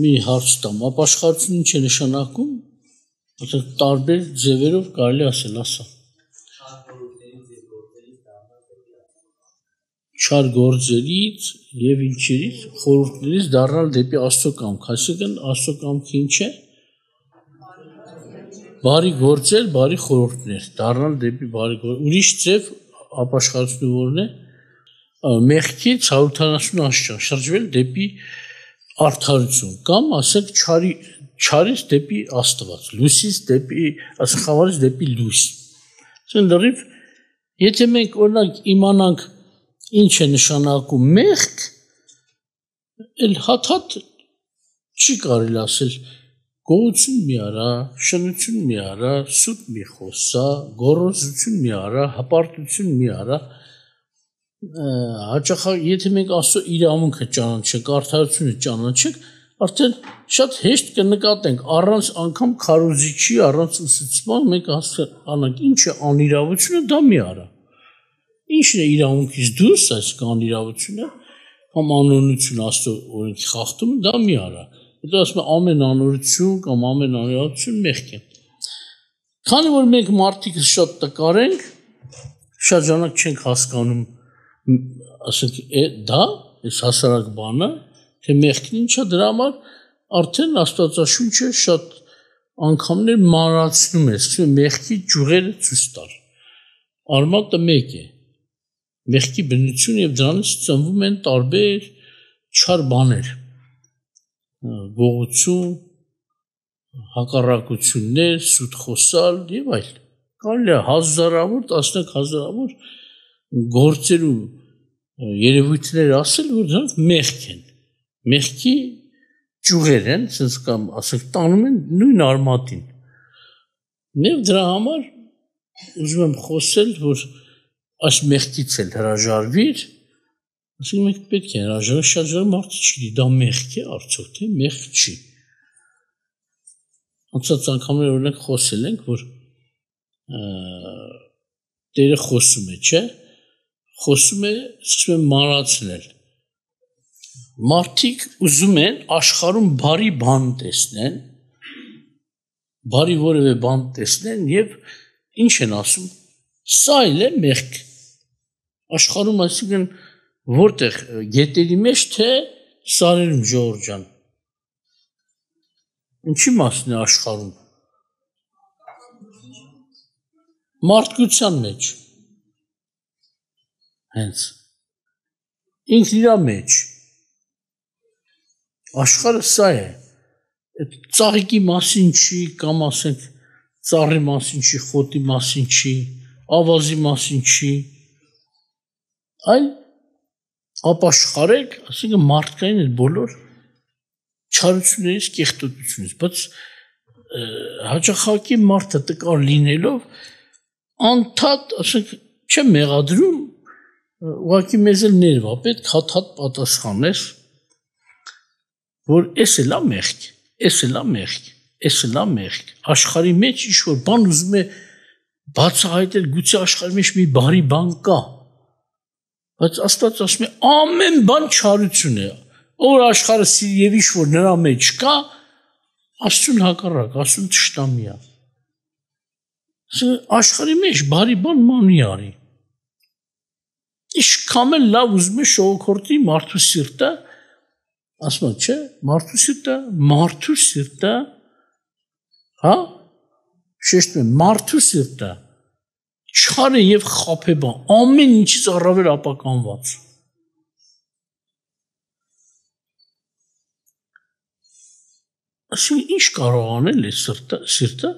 մի հարց տամ, ապաշխարությունը ինչ է նշանակում, ասենք տարբեր ձևերով կարելի ասել, ասա։ Չար գործերից եւ ինչերից խորհուրդներից դառնալ դեպի Աստծո կամք, այսինքն Աստծո կամքը ինչ է։ Բարի գործեր, բարի խորհուրդներ, դառնալ դեպի բարի գործեր։ Ուրիշ ձև ապաշխարությունը որն է։ Մեղքից 180 աստիճան շրջվել դեպի արդարություն կամ ասենք չարից դեպի Աստված, լույսից դեպի, ասենք խավարից դեպի լույս։ Այսինքն լրիվ, եթե մենք օրինակ իմանանք ինչ է նշանակում մեղք, էլ հաթաթ չի կարելի ասել գողություն մի արա, շնություն մի արա, սուտ մի խոսա, գոռոզություն մի արա, հպարտություն մի արա, հաճախ եթե մենք Աստծո իրավունքը ճանաչենք, արդարությունը ճանաչենք, արդեն շատ հեշտ կնկատենք առանց անգամ քարոզիչի, առանց ուսուցման մենք հասկանանք ինչ է անիրավությունը, դա մի արա։ Ինչն է իրավունքից դուրս, այսինքն անիրավությունը կամ անօրենություն Աստծո օրենքի խախտումը, դա մի արա։ Հետո ասում է ամեն անօրենություն կամ ամեն անիրավություն մեղք է։ Քանի որ մենք մարդիկ շատ տկար ենք, շատ ժամանակ չենք հասկանում, ասենք դա, այս հասարակ բանը, թե մեղքն ինչա, դրա համար արդեն Աստվածաշունչը շատ անգամներ մանրացնում է, ասում մեղքի ճյուղերը ցույց տալ։ Արմատը մեկ է։ Մեղքի բնություն եւ դրանից ծնվում են տարբեր չար բաներ, գողություն, հակառակություններ, սուտ խոսալ եւ այլ։ Կարելի է հազարավոր, տասնյակ հազարավոր գործեր ու երևույթներ ասել, որ դրանք մեղք են։ Մեղքի ճյուղեր են, ասես կամ ասենք տանում են նույն արմատին։ Եվ դրա համար ուզում եմ խոսել, որ այս մեղքից էլ հրաժարվիր, ասենք մենք պետք է հրաժարվենք, շատ ժամ մարդը չի, դա մեղք է, արդյոք թե մեղք չի։ Անցած անգամներ օրինակ խոսել ենք, որ Տերը խոսում է, չէ՞։ Խոսում է, սկսում է մանրացնել։ Մարդիկ ուզում են աշխարհում բարի բան տեսնեն, բարի որևէ բան տեսնեն եւ ինչ են ասում, սա էլ է մեղք։ Աշխարհում այսինքն որտեղ գետերի մեջ թե սարերում ժողովուրդ ջան։ Ինչի մասն է աշխարհում։ Մարդկության մեջ։ Հենց ինքն իր մեջ։ Աշխարհը սա է։ Այդ ծաղիկի մասին չի, կամ ասենք ծառի մասին չի, խոտի մասին չի, ավազի մասին չի, այլ ապաշխարեք, ասենք մարդկային այդ բոլոր չարություններից, կեղտոտությունից, բայց հաճախակի մարդը տկար լինելով անդադ, ասենք, չեմ մեղադրում, ուղղակի մեզ էլ ներվա, պետք հատ-հատ պատասխանես, որ էս էլա մեղք, էս էլա մեղք, էս էլա մեղք, աշխարհի մեջ ինչ-որ բան ուզում է բացահայտել, գուցե աշխարհի մեջ մի բարի բան կա, բայց Աստված ասում է ամեն բան չարություն է, որ աշխարհը սիրի եւ ինչ-որ նրա մեջ կա, Աստծուն հակառակ, Աստծուն թշնամի է։ Աշխարհի մեջ բարի բան ման արի։ Ինչքան էլ լավ ուզում է շողոքորտի մարդու սիրտը, ասում է, չէ, մարդու սիրտը, հա, շեշտում է, մարդու սիրտը, չար է եւ խաբեբան, ամեն ինչից առավել ապականված։ Այսինքն ինչ կարող անել է սիրտը,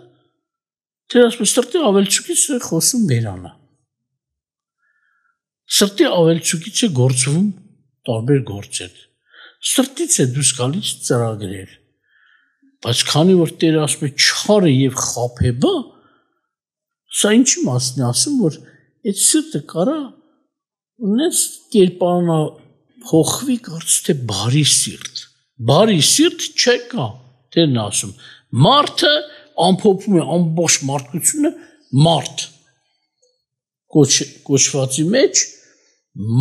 թե ասում է, սրտի ավելցուկից է խոսում բերանը։ Սրտի ավելցուկից է գործվում տարբեր գործեր։ Սրտից է դուրս գալիս ծրագրեր։ Բայց քանի որ Տերը ասում է չար է եւ խաբեբա, սա ինչի մասն է ասում, որ այդ սիրտը կարա ունես կերպարանա փոխվի կարծես թե բարի սիրտ։ Բարի սիրտ չկա, Տերն ասում։ Մարդը ամփոփում է ամբողջ մարդկությունը մարդ կոչվածի մեջ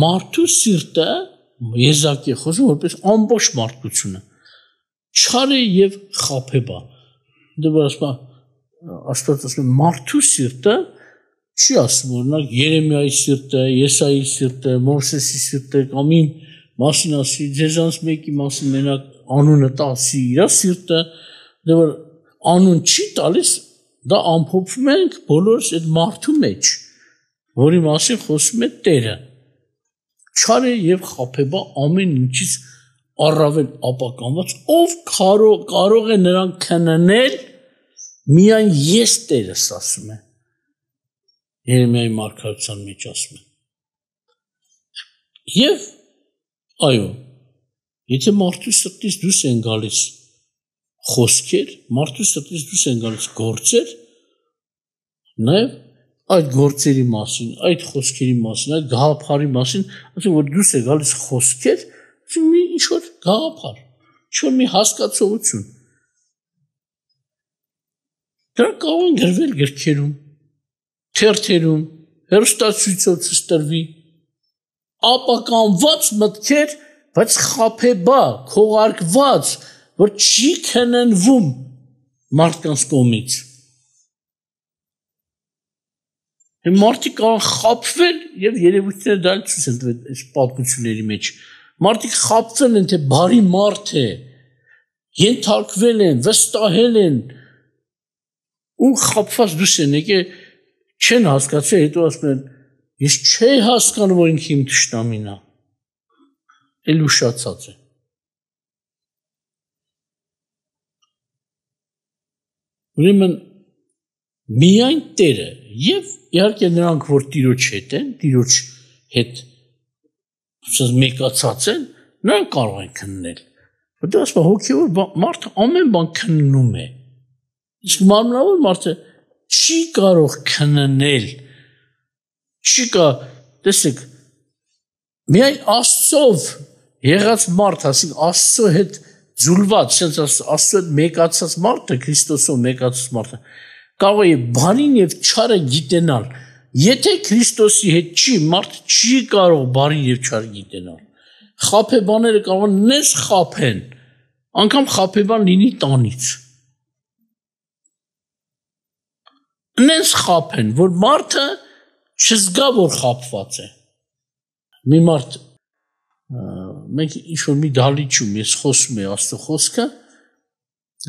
մարդու սիրտը եզակի խոսում որպես ամբողջ մարդկությունը չար է եւ խաբեբա։ Դե ասում Աստված ասում է մարդու սիրտը չի ասում օրինակ Երեմիայի սիրտը, Եսայի սիրտը, Մովսեսի սիրտը կամ իմ մասին ասի, ձեզանց մեկի մասին մենակ անունը տալսի իր սիրտը, դե որ անուն չի տալիս, դա ամփոփում ենք բոլորս այդ մարդու մեջ, որի մասին խոսում է Տերը։ Չար է եւ խաբեբա ամեն ինչից առավել ապականված, ով կարող է նրան քննել, միայն ես Տերս ասում է։ Երեմիայի մարգարության մեջ ասում է։ Եվ այո, եթե մարդու սրտից դուրս են գալիս խոսքեր, մարդու սրտից դուրս են գալիս գործեր, նաև այդ գործերի մասին, այդ խոսքերի մասին, այդ գաղափարի մասին, ասում որ դուրս է գալիս խոսքեր, ասում մի ինչ-որ գաղափար, ինչ-որ մի հասկացողություն։ Դրանք կարող են գրվել գրքերում, թերթերում, հեռուստացույցով ցույցտրվի, ապականված մտքեր, բայց խաբեբա, քողարկված, որ չի քննվում մարդկանց կողմից։ Մարդիկ կարող խաբվել եւ երևույթները դա ցույց են տվել այս պատմությունների մեջ։ Մարդիկ խաբվել են, թե բարի մարդ է, ենթարկվել են, վստահել են ու խաբված դուրս են եկել, չեն հասկացել, հետո ասում են, ես չէի հասկանում, որ ինքը իմ թշնամին է, էլ ուշացած է։ Ուրեմն միայն Տերը եւ իհարկե նրանք, որ Տիրոջ հետ են, Տիրոջ հետ մեկացած են, նրանք կարող են քննել։ Որտեղ ասում հոգևոր մարդը ամեն բան քննում է։ Իսկ մարմնավոր մարդը չի կարող քննել, չի կարող, տեսեք, միայն Աստծով եղած մարդ, ասիկ Աստծո հետ ձուլված, Աստծո հետ մեկացած մարդը, Քրիստոսով մեկացած մարդը, կարող է բարին եւ չարը գիտենալ։ Եթե Քրիստոսի հետ չի, մարդ չի կարող բարին եւ չարը գիտենալ։ Խաբեբաները կարող են նես խաբեն, անգամ խաբեբան լինի տանից։ Նենց խաբեն, որ մարդը չզգա, որ խաբված է։ Մի մարդ, մենք ինչ-որ մի դալիճում ես խոսում է Աստծո խոսքը,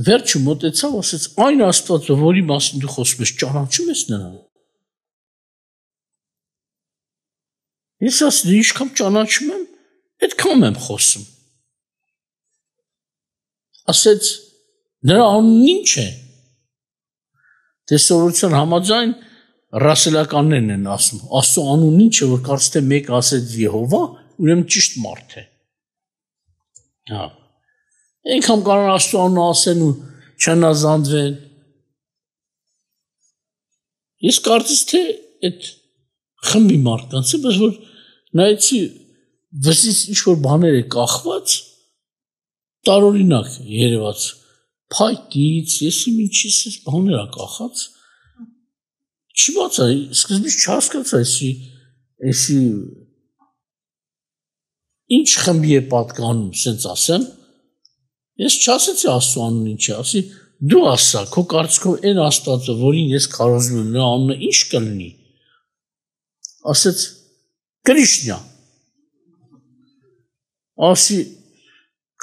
վերջը մոտեցավ, ասեց, այն Աստվածը, որի մասին դու խոսում ես, ճանաչում ես նրան։ Ես ասեցի, ինչքան ճանաչում եմ, այդքան եմ խոսում։ Ասեց, նրա անունն ինչ է։ Տեսողության համաձայն ռասելականներն են ասում, Աստծո անունն ինչ է, որ կարծես թե մեկ ասեց Եհովա, ուրեմն ճիշտ մարդ է։ Հա։ Այնքան կարող Աստծո անունը ասեն ու չնազանդվեն։ Ես կարծես թե այդ խմբի մարդկանց է, բայց որ նայեցի վզից ինչ-որ բաներ է կախված, տարօրինակ երևաց, փայտից, եսի ինչից էս բաներ է կախած, չի բացա, սկզբից չհասկացա, եսի ինչ խմբի է պատկանում, սենց ասեմ, ես չասեցի Աստծո անունը ինչ է, ասի, դու ասա, քո կարծիքով այն Աստվածը, որին ես քարոզում եմ, նրա անունը ինչ կլինի, ասեց, Կրիշնա, ասի,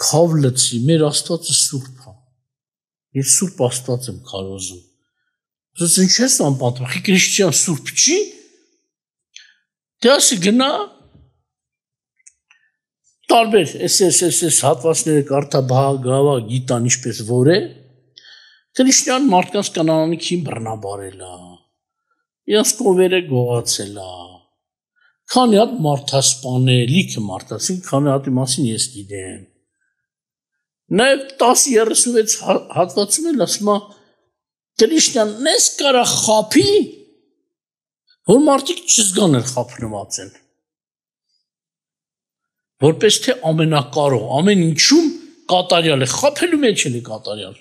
քավ լծի, մեր Աստվածը սուրբ է, ես սուրբ Աստված եմ քարոզում, ասեց, ինչ ես անպատվախ, Կրիշնյան սուրբ չի, դե ասի գնա, տարբեր, այս հատվածները կարդա բաղավա գիտան ինչպես որ է, Կրիշնյան մարդկանց կանանանիքին բռնաբարել է, իրենց կովերը գողացել է, քանի հատ մարդասպան է, լիքը մարդասին, քանի հատի մասին ես գիտեմ, նաև 10-36 հատվածում էլ ասում է, Կրիշնյան նես կարա խափի, որ մարդիկ չզգան էլ խափնված են, որպես թե ամենակարող, ամեն ինչում կատարյալ է, խափելու մեջ էլ է կատարյալ։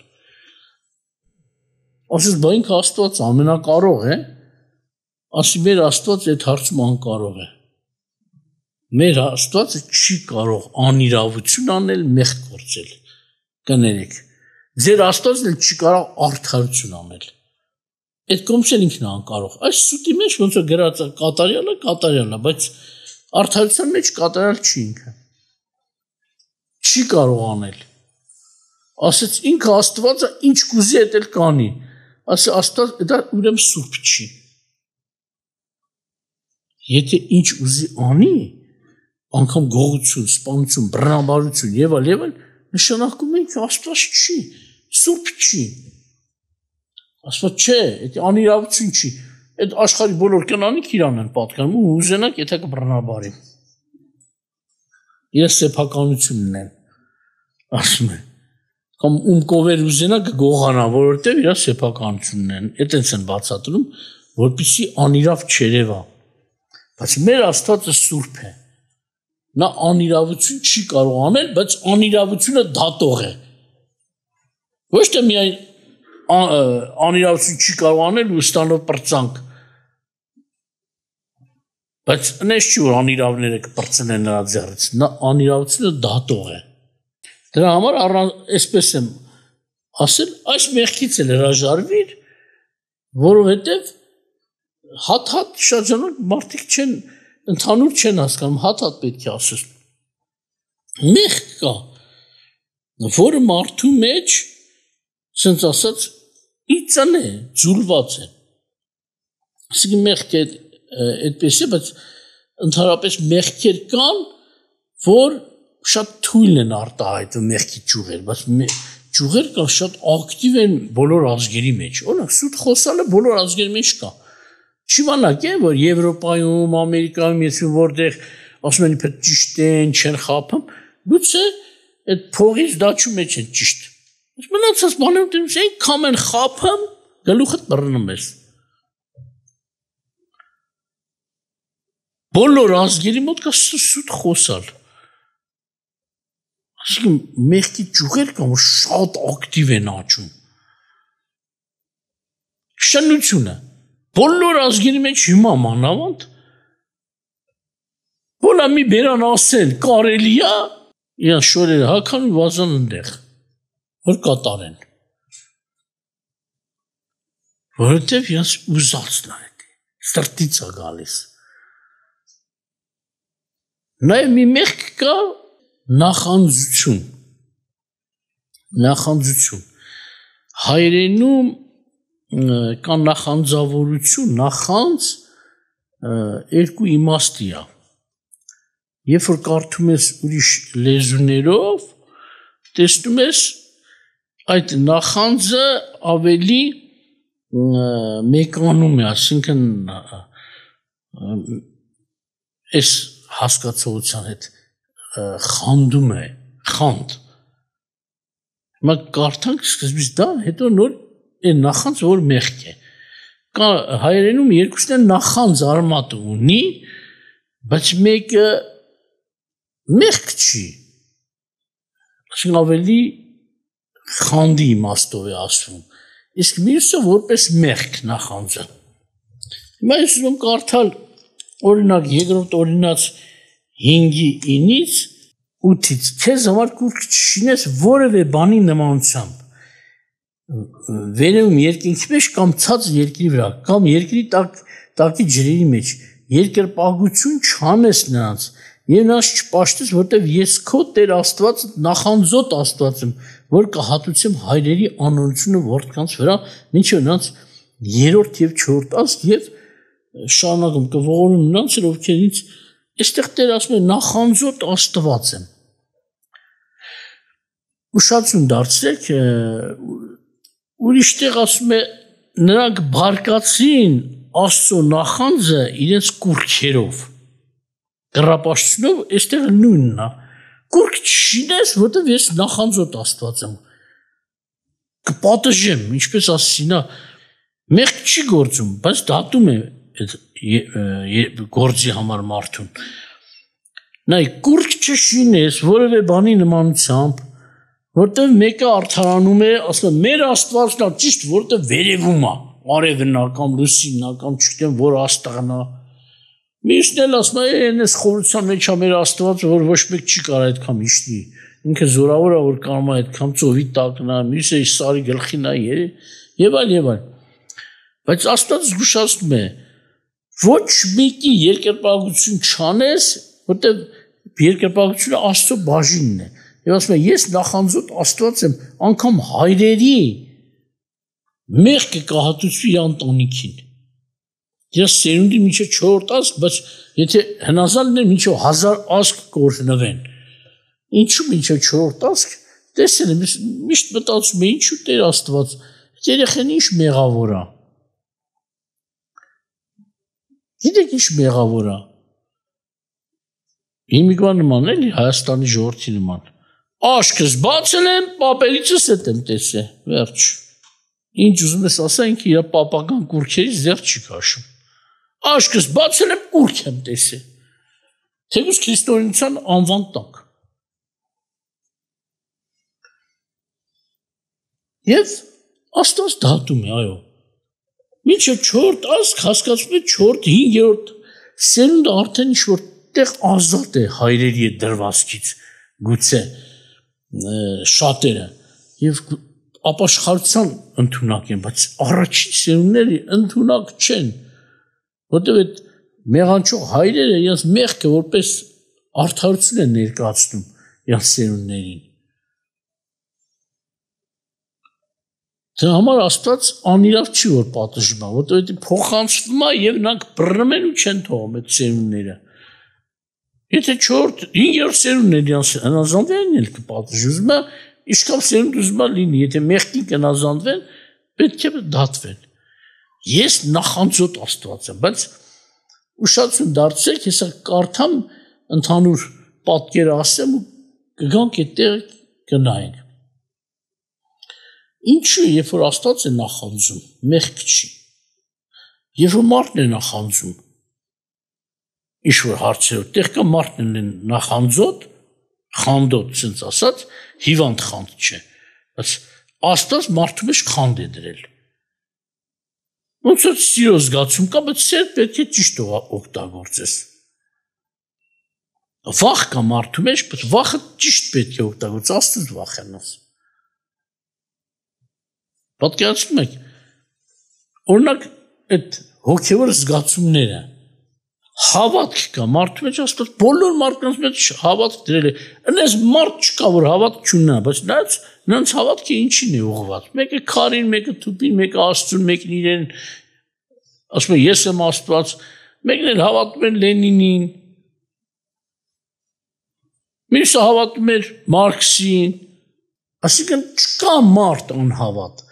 Ասես, բա ինքը Աստված ամենակարող է, ասի մեր Աստված այդ հարցում անկարող է։ Մեր Աստվածը չի կարող անիրավություն անել, մեղք գործել։ կներեք։ Ձեր Աստվածն էլ չի կարող արդարություն անել։ Այդ կողմից էլ ինքն է անկարող։ Այս սուտի մեջ ոնց որ գրած է կատարյալը, բայց արդարության մեջ կատարյալ չի ինքը։ Չի կարող անել։ Ասեց ինքը Աստվածը ինչ կուզի այդ էլ կանի։ Ասե Աստված դա ուրեմն սուրբ չի։ Եթե ինչ ուզի անի, անգամ գողություն, սպանություն, բռնաբարություն եւ այլ, նշանակում է ինքը Աստված չի, սուրբ չի։ Աստված չէ, դա անիրավություն չի։ Այդ աշխարհի բոլոր կնանիք իրան են պատկանում ու ուզենակ եթե կբռնաբարի։ Ես սեփականությունն եմ, ասում եմ։ Կամ կովեր ուզենակ գողանա, որովհետև իր սեփականությունն են։ Այդտենց են բացատրում, որպեսզի անիրավ չերևա։ Բայց մեր Աստվածը սուրբ է։ Նա անիրավություն չի կարող անել, բայց անիրավությունը դատող է։ Ոչ թե միայն անիրավություն չի կարող անել ու ստանով պրծանք։ Բայց այնպես չի որ անիրավները կպրծնեն նրա ձեռից։ Նա անիրավությունը դատող է։ Դրա համար այսպես եմ ասել, այս մեղքից էլ հրաժարվիր, որովհետև հատ շրջանակ մարդիկ չեն ընդհանուր չեն հասկանում, հատ պետք է ասես։ Մեղք կա, որը մարդու մեջ, ասենց ասած, իծան է, ձուլված է։ Այսինքն մեղք է այդպես է, բայց ընդհանրապես մեղքեր կան, որ շատ թույլ են արտահայտվում մեղքի ճյուղեր, բայց ճյուղեր կան շատ ակտիվ են բոլոր ազգերի մեջ։ Օրինակ սուտ խոսալը բոլոր ազգերի մեջ կա։ Չիմանակ է, որ Եվրոպայում, Ամերիկայում, եթե որտեղ ասում են իբր ճիշտ են, չեն խափում, գուցե այդ փողից դաչու մեջ են ճիշտ։ Մնացած բաներում դες այնքան են խափում, գլուխդ բռնում ես։ Բոլոր ազգերի մոտ կա սուտ խոսալ։ Այսինքն մեղքի ճյուղեր կան, որ շատ ակտիվ են աճում։ Շնությունը բոլոր ազգերի մեջ հիմա մանավանդ Բոլա մի բերան ասել կարելի է, իրան շորերը հագան ու վազան ընդեղ, որ կատարեն։ Որովհետև իրանց ուզածն է, սրտից է գալիս։ Նաև մի մեղք կա նախանձություն։ Հայերենում կա նախանձավորություն, նախանձ երկու իմաստի է։ Երբ որ կարդում ես ուրիշ լեզուներով, տեսնում ես այդ նախանձը ավելի մեկանում է, ասինքն այս հասկացողության հետ խանդում է, խանդ։ Հիմա կարդանք սկզբից դա, հետո նոր այն նախանձ, որ մեղք է։ Կա հայերենում երկուսն են նախանձ արմատ ունի, բայց մեկը մեղք չի, այսինքն ավելի խանդի իմաստով է ասվում, իսկ մյուսը որպես մեղք նախանձը։ Հիմա ես ուզում կարդալ օրինակ երկրորդ օրինաց 5:9-ից 8-ից քեզ համար կուրք չշինես որևէ բանի նմանությամբ վերևում երկինքի մեջ կամ ցած երկրի վրա կամ երկրի տակի ջրերի մեջ երկրպագություն չանես նրանց եւ նրանց չպաշտես, որտեվ ես քո Տեր Աստված նախանձոտ Աստված եմ, որ կհատուցեմ հայրերի անօրությունը որդկանց վրա, մինչև նրանց 3-րդ եւ 4-րդ ազգ եւ շարունակում կողորում նրանց, ովքեր ինձ այստեղ Տեր ասում է նախանձոտ Աստված եմ։ Ուշացում դարձրեք, ուրիշտեղ ասում է նրանք բարկացին Աստծո նախանձը իրենց կուրքերով։ Կռապաշտությունով այստեղ նույնն է։ Կուրք չշինես, որտեվ ես նախանձոտ Աստված եմ։ Կպատժեմ, ինչպես ասեցի նա, մեղք չի գործում, բայց դատում է այդ գործի համար մարդուն։ Նայ, կուրք չշինես որևէ բանի նմանությամբ, որտեվ մեկը արդարանում է, ասում է մեր Աստվածն է ճիշտ, որտեվ վերևում է, արևն է կամ լուսինն է կամ չգիտեմ որ աստղն է։ Մյուսն էլ ասում է, այս խորության մեջ է մեր Աստվածը, որ ոչ մեկ չի կարող այդքան իշտի։ ինքը զորավոր է որ կարող է այդքան ծովի տակ նա մյուսը սարի գլխին է եւ այլ բայց Աստված զգուշացնում է ոչ մեկի երկրպագություն չանես որտեղ երկրպագությունը Աստծո բաժինն է եւ ասում է ես նախանձոտ Աստված եմ անգամ հայրերի մեղքը կհատուցվի ընտանիքին ես սերունդի մինչև 4 ազգ բայց եթե հնազանդներ մինչև 1000 ազգ կօրհնվեն ինչու մինչև 4 ազգ տեսել եմ միշտ մտածում եմ ինչու Տեր Աստված երեխեն ինչ մեղավոր է գիտեք ինչ մեղավոր է հիմիկվա նման էլի Հայաստանի ժողովրդի նման աշկս բացել եմ պապերիցս հետ եմ տեսել վերջ ինչ ուզում ես ասա ինքը իր պապական կուրքերից դեռ չի քաշում աշկս բացել եմ կուրք եմ տեսել թեկուզ քրիստոնեության անվան տակ եւ Աստված դատում է այո մինչև 4 ազգ հասկացում է 4-5-րդ սերունդը արդեն ինչ-որ տեղ ազատ է հայրերի հետ դրվածքից գուցե շատերը եւ ապաշխարության ընդունակ են բայց առաջին սերունդները ընդունակ չեն որտեղ այդ մեղանչող հայրերը իրենց մեղքը որպես արդարություն են ներկայացնում իրենց սերունդներին դրա համար Աստված անիրավ չի որ պատժում է որտեղ փոխանցվում է եւ նրանք բռնում են ու չեն թողում այդ սերունդները Եթե 4-5-րդ սերունդն է իրենց հնազանդվեն էլ կպատժում է Իշքան սերունդ ուզում է լինի, եթե մեղքին կնազանդվեն, պետք է դատվեն։ Ես նախանձոտ Աստված եմ, բայց ուշադրություն դարձրեք, հեսա կարդամ ընդհանուր պատկերը ասեմ ու կգանք այդտեղ կնայենք։ Ինչու, երբ որ Աստված է նախանձում, մեղք չի։ Երբ որ մարդն է նախանձում, ինչ-որ հարցերով, տեղ կա մարդն է նախանձոտ, խանդոտ, ցենց ասած, հիվանդ խանդ չէ, բայց Աստված մարդու մեջ խանդ է դրել։ Ոնց որ սիրո զգացում կա, բայց սեր պետք է ճիշտ օգտագործես։ Վախ կա մարդու մեջ, բայց վախը ճիշտ պետք է օգտագործես, Աստված վախենաս։ Պատկերացնում եք, օրինակ այդ հոգևոր զգացումները հավատք կա մարդու մեջ, Աստված բոլոր մարդկանց մեջ հավատք դրել է։ Այնպես մարդ չկա, որ հավատք չունենա, բայց նրանց հավատքը ինչին է ուղղված։ Մեկը քարին, մեկը թուփին, մեկը Աստծուն, մեկն իրեն ասում է ես եմ Աստված, մեկն էլ հավատում է Լենինին, մյուսը հավատում է Մարքսին, այսինքն չկա մարդ անհավատ,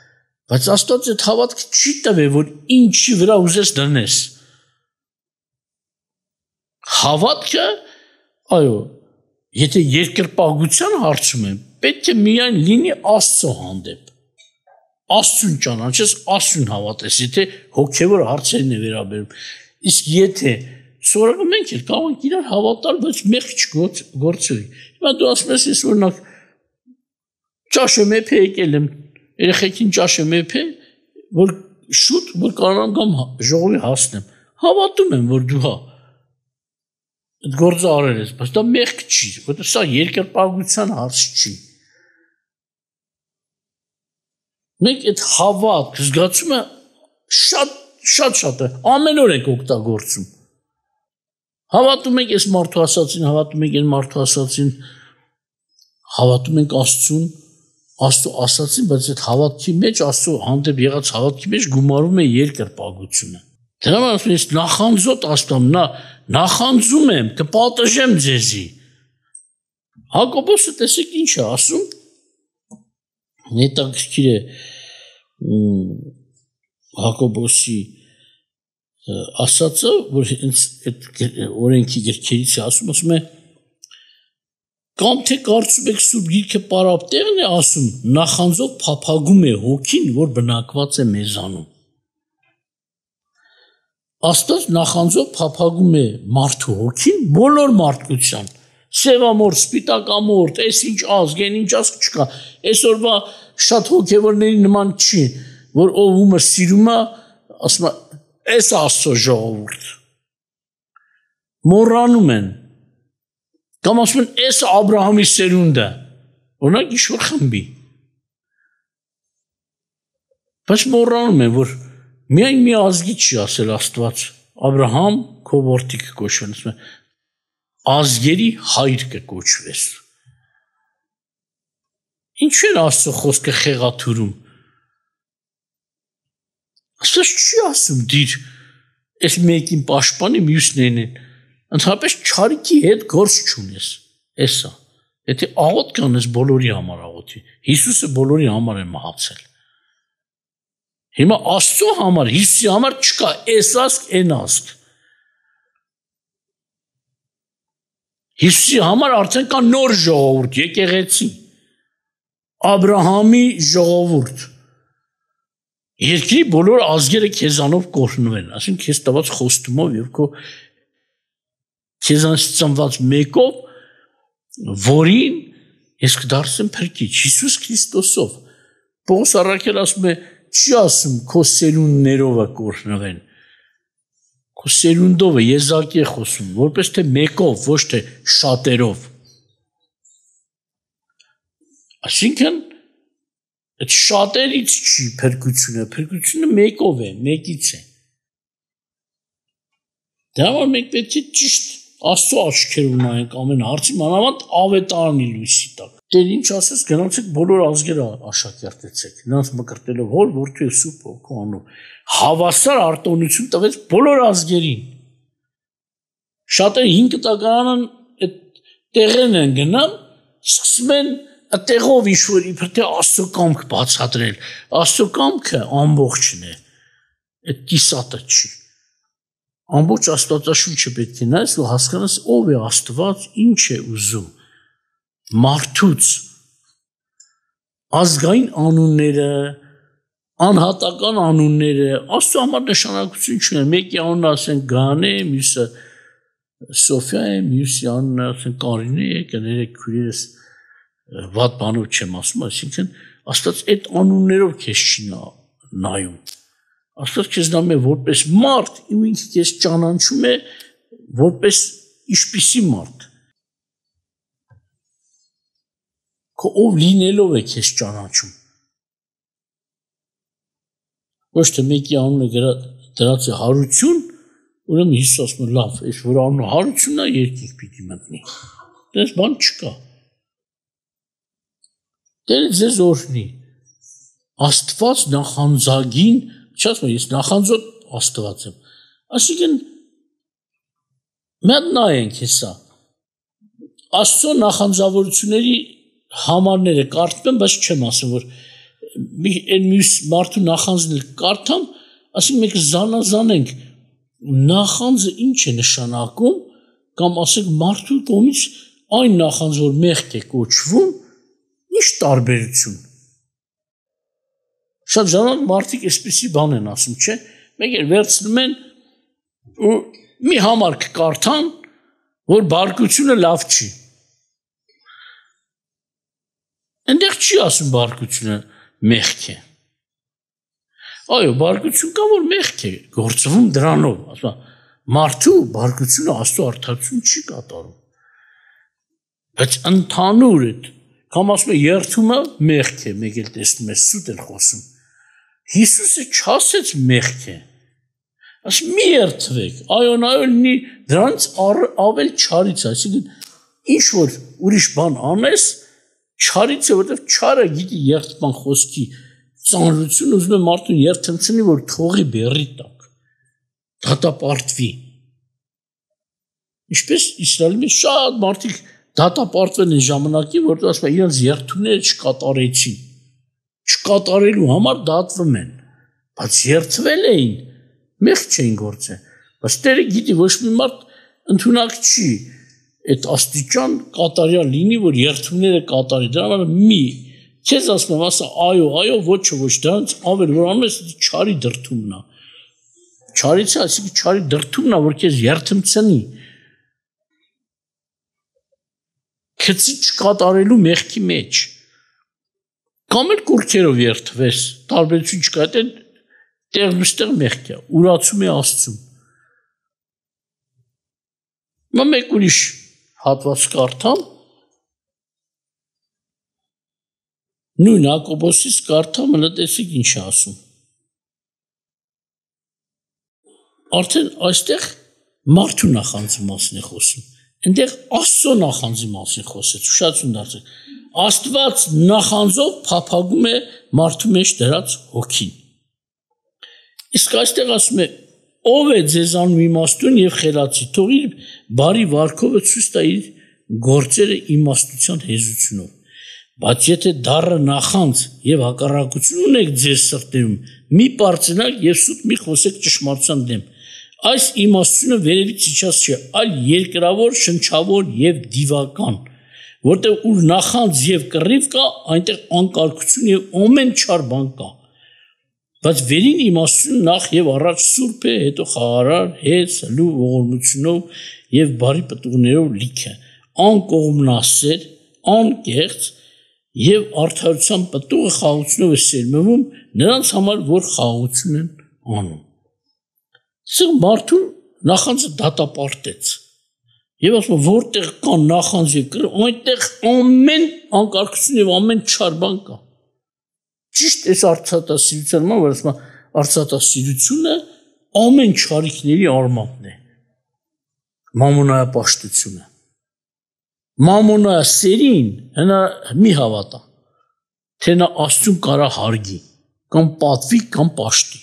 բայց Աստված այդ հավատքը չի տվել, որ ինչի վրա ուզես դնես։ Հավատքը, այո, եթե երկրպագության հարցում եմ, պետք է միայն լինի Աստծո հանդեպ։ Աստծուն ճանաչես, Աստծուն հավատես, եթե հոգևոր հարցերին է վերաբերում։ Իսկ եթե սովորական մենք էլ կարող ենք իրար հավատալ, բայց մեղք չգործի։ Հիմա դու ասում ես, ես օրինակ ճաշը մեփ եկել եմ, երեխեքին ճաշը մեփ է, որ շուտ որ կարողամ գամ ժողովի հասնեմ։ Հավատում եմ, որ դու հա այդ գործը արել ես, բայց դա մեղք չի, որտեղ սա երկրպագության հարց չի։ Մենք այդ հավատ զգացումը շատ է, ամեն օր ենք օգտագործում։ Հավատում ենք այս մարդու ասածին, հավատում ենք այն մարդու ասածին, հավատում ենք Աստծուն, Աստծո ասածին, բայց այդ հավատքի մեջ, Աստծո հանդեպ եղած հավատքի մեջ գումարում է երկրպագությունը։ Դրա համար ես նախանձոտ Աստծուն, նախանձում եմ, կպատժեմ ձեզի։ Հակոբոսը տեսեք ինչ է ասում, հետաքրքիր է Հակոբոսի ասածը, որ այդ օրենքի գրքերից է ասում է, կամ թե կարծում եք Սուրբ Գիրքը պարապ տեղն է ասում, նախանձով փափագում է հոգին, որ բնակված է մեզանում։ Աստված նախանձով փափագում է մարդու հոգին, բոլոր մարդկության, սևամորթ, սպիտակամորթ, այս ինչ ազգ, այն ինչ ազգ չկա, այսօրվա շատ հոգևորների նման չի, որ ով ումը սիրում է, ասում է, այս Աստծո ժողովուրդ, մոռանում են, կամ ասում են, այս Աբրահամի սերունդը, Օրինակ ինչ-որ խմբի։ Բայց մոռանում են, որ միայն մի ազգի չի ասել Աստված, Աբրահամ քո որդի կկոչվեն, ասում է, ազգերի հայր կկոչվես։ Ինչու են Աստծո խոսքը խեղաթյուրում։ Աստված չի ասում դիր այս մեկին պաշտպանի մյուսներին են։ Ընդհանրապես չարիքի հետ գործ չունես։ Էսա։ Եթե աղոտ կանես բոլորի համար աղոթի։ Հիսուսը բոլորի համար է մահացել։ Հիմա Աստծո համար, Հիսուսի համար չկա այս ազգ, այն ազգ։ Հիսուսի համար արդեն կա նոր ժողովուրդ, եկեղեցի։ Աբրահամի ժողովուրդ։ Երկրի բոլոր ազգերը քեզանով կօրհնվեն, ասենք քեզ տված խոստումով եւ քո քեզանից ծնված մեկով, որին ես կդարձեմ փրկիչ, Հիսուս Քրիստոսով։ Պողոս առաքել ասում է, չի ասում քո սերունդներով կօրհնվեն։ Քո սերունդով եզակի է խոսում, որպես թե մեկով, ոչ թե շատերով։ Այսինքն այդ շատերից չի փրկությունը մեկով է, մեկից է։ Դա որ մենք պետք է ճիշտ Աստծո աչքերով նայենք ամեն հարցի, մանավանդ ավետարանի լույսի տակ։ Տեր ինչ ասես, գնացեք բոլոր ազգերը աշակերտեցեք, նրանց մկրտելով Հոր, Որդու եւ Սուրբ Հոգու անունով։ Հավասար արտոնություն տվեց բոլոր ազգերին։ Շատերը 5 տականան այդ տեղեն են գնան, սկսում են այդտեղով ինչ-որ իբր թե Աստծո կամք բացատրել։ Աստծո կամքը ամբողջն է։ Այդ կիսատը չի։ Ամբողջ Աստվածաշունչը պետք է նայես ու հասկանաս ով է Աստված, ինչ է ուզում։ Մարդուց ազգային անունները, անհատական անունները, Աստծո համար նշանակություն չունեն։ Մեկի անունը ասեն Գան է, մյուսը Սոֆիա է, մյուսի անունը ասեն Կարինե է, կներեք քույրերս վատ բանով չեմ ասում, այսինքն Աստված այդ անուններով քեզ չի նայում։ Աստված քեզ նայում է որպես մարդ, ու ինքը քեզ ճանաչում է որպես ինչպիսի մարդ։ Քո ով լինելով է քեզ ճանաչում։ Ոչ թե մեկի անունը դրած է հարություն, ուրեմն Հիսուս ասում է լավ, այս որ անունը հարությունն է, երկինք պիտի մտնի։ Դες բան չկա։ Տերը ձեզ օրհնի։ Աստված նախանձագին, չասում ես նախանձոտ Աստված եմ։ Այսինքն մենք նայենք հեսա։ Աստծո նախանձավորությունների համարները կարդում եմ, բայց չեմ ասում, որ այն մյուս մարդու նախանձն կարդամ, ասենք մենք զանազանենք նախանձը ինչ է նշանակում, կամ ասենք մարդու կողմից այն նախանձ, որ մեղք է կոչվում, ինչ տարբերություն։ Շատ ժամանակ մարդիկ այսպիսի բան են ասում, չէ՞։ Մեկ էլ վերցնում են ու մի համարք կարդան, որ բարկությունը լավ չի։ Այնտեղ չի ասում բարկությունը մեղք է։ Այո, բարկություն կա, որ մեղք է, գործվում դրանով, ասում մարդու բարկությունը Աստծո արդարություն չի կատարում։ Բայց ընդհանուր է, կամ ասում է երթումը մեղք է, մեկ էլ տեսնում ես սուտ են խոսում։ Հիսուսը չասեց մեղք է։ Ասում մի երթվեք, այո, նայոլնի դրանց ավել չարից, այսինքն ինչ որ ուրիշ բան անես, չարից է, որտեղ չարը գիտի երթման խոսքի ծանրություն, ուզում է մարդուն երթմցնի, որ թողի բերի տակ, դատապարտվի։ Ինչպես Իսրայելի մեջ շատ մարդիկ դատապարտվել են ժամանակին, որտեղ ասում է իրենց երթումները չկատարեցին։ Չկատարելու համար դատվում են, բայց երթվել էին, մեղք չէին գործել։ Բայց Տերը գիտի, ոչ մի մարդ ընդունակ չի այդ աստիճան կատարյալ լինի, որ երթումները կատարի։ Դրա համար մի քեզ ասում եմ, ասա այո, ոչ, դրանց ավել որ անում ես, չարի դրդումն է։ Չարից է, այսինքն չարի դրդումն է, որ քեզ երթմցնի։ Քցի չկատարելու մեղքի մեջ։ Կամ էլ կուրքերով երթվես, տարբերություն չկա, դա տեղնուստեղ մեղք է, ուրացում է Աստծուն։ Մեկ ուրիշ հատված կարդամ, Նույն Հակոբոսից կարդա մնացեք ինչ է ասում։ Արդեն այստեղ մարդու նախանձի մասին է խոսում։ Այնտեղ Աստծո նախանձի մասին խոսեց, ուշադրություն դարձրեք։ Աստված նախանձով փափագում է մարդու մեջ դրած հոգին։ Իսկ այստեղ ասում է. ով է ձեզանում իմաստուն եւ խելացի, թող իր բարի վարքովը ցույց տա իր գործերը իմաստության հեզությունով։ Բայց եթե դառը նախանձ եւ հակառակություն ունեք ձեր սրտերում, մի պարծենակ եւ սուտ մի խոսեք ճշմարտության դեմ։ Այս իմաստությունը վերևից իջած չէ, այլ երկրավոր, շնչավոր եւ դիվական, որտեղ ուր նախանձ եւ կռիվ կա, այնտեղ անկարգություն եւ ամեն չար բան կա։ Բայց վերին իմաստությունը նախ եւ առաջ սուրբ է, հետո խաղարար, հեծ, լու ողորմությունով եւ բարի պտուղներով լիք է, անկողմնասեր, անկեղծ եւ արդարության պտուղը խաղաղությունով է սերմվում նրանց համար, որ խաղաղություն են անում։ Սա մարդուն նախանձը դատապարտեց։ Եվ ասում որտեղ կա նախանձ եւ կռիվ, այնտեղ ամեն անկարգություն եւ ամեն չար բան կա։ Ճիշտ է արծաթասիրության համար, որ ասում արծաթասիրությունը ամեն չարիքների արմատն է։ Մամոնայապաշտությունը։ Մամոնայասերին հնա մի հավատա, թե նա Աստծուն կարա հարգի, կամ պատվի, կամ պաշտի։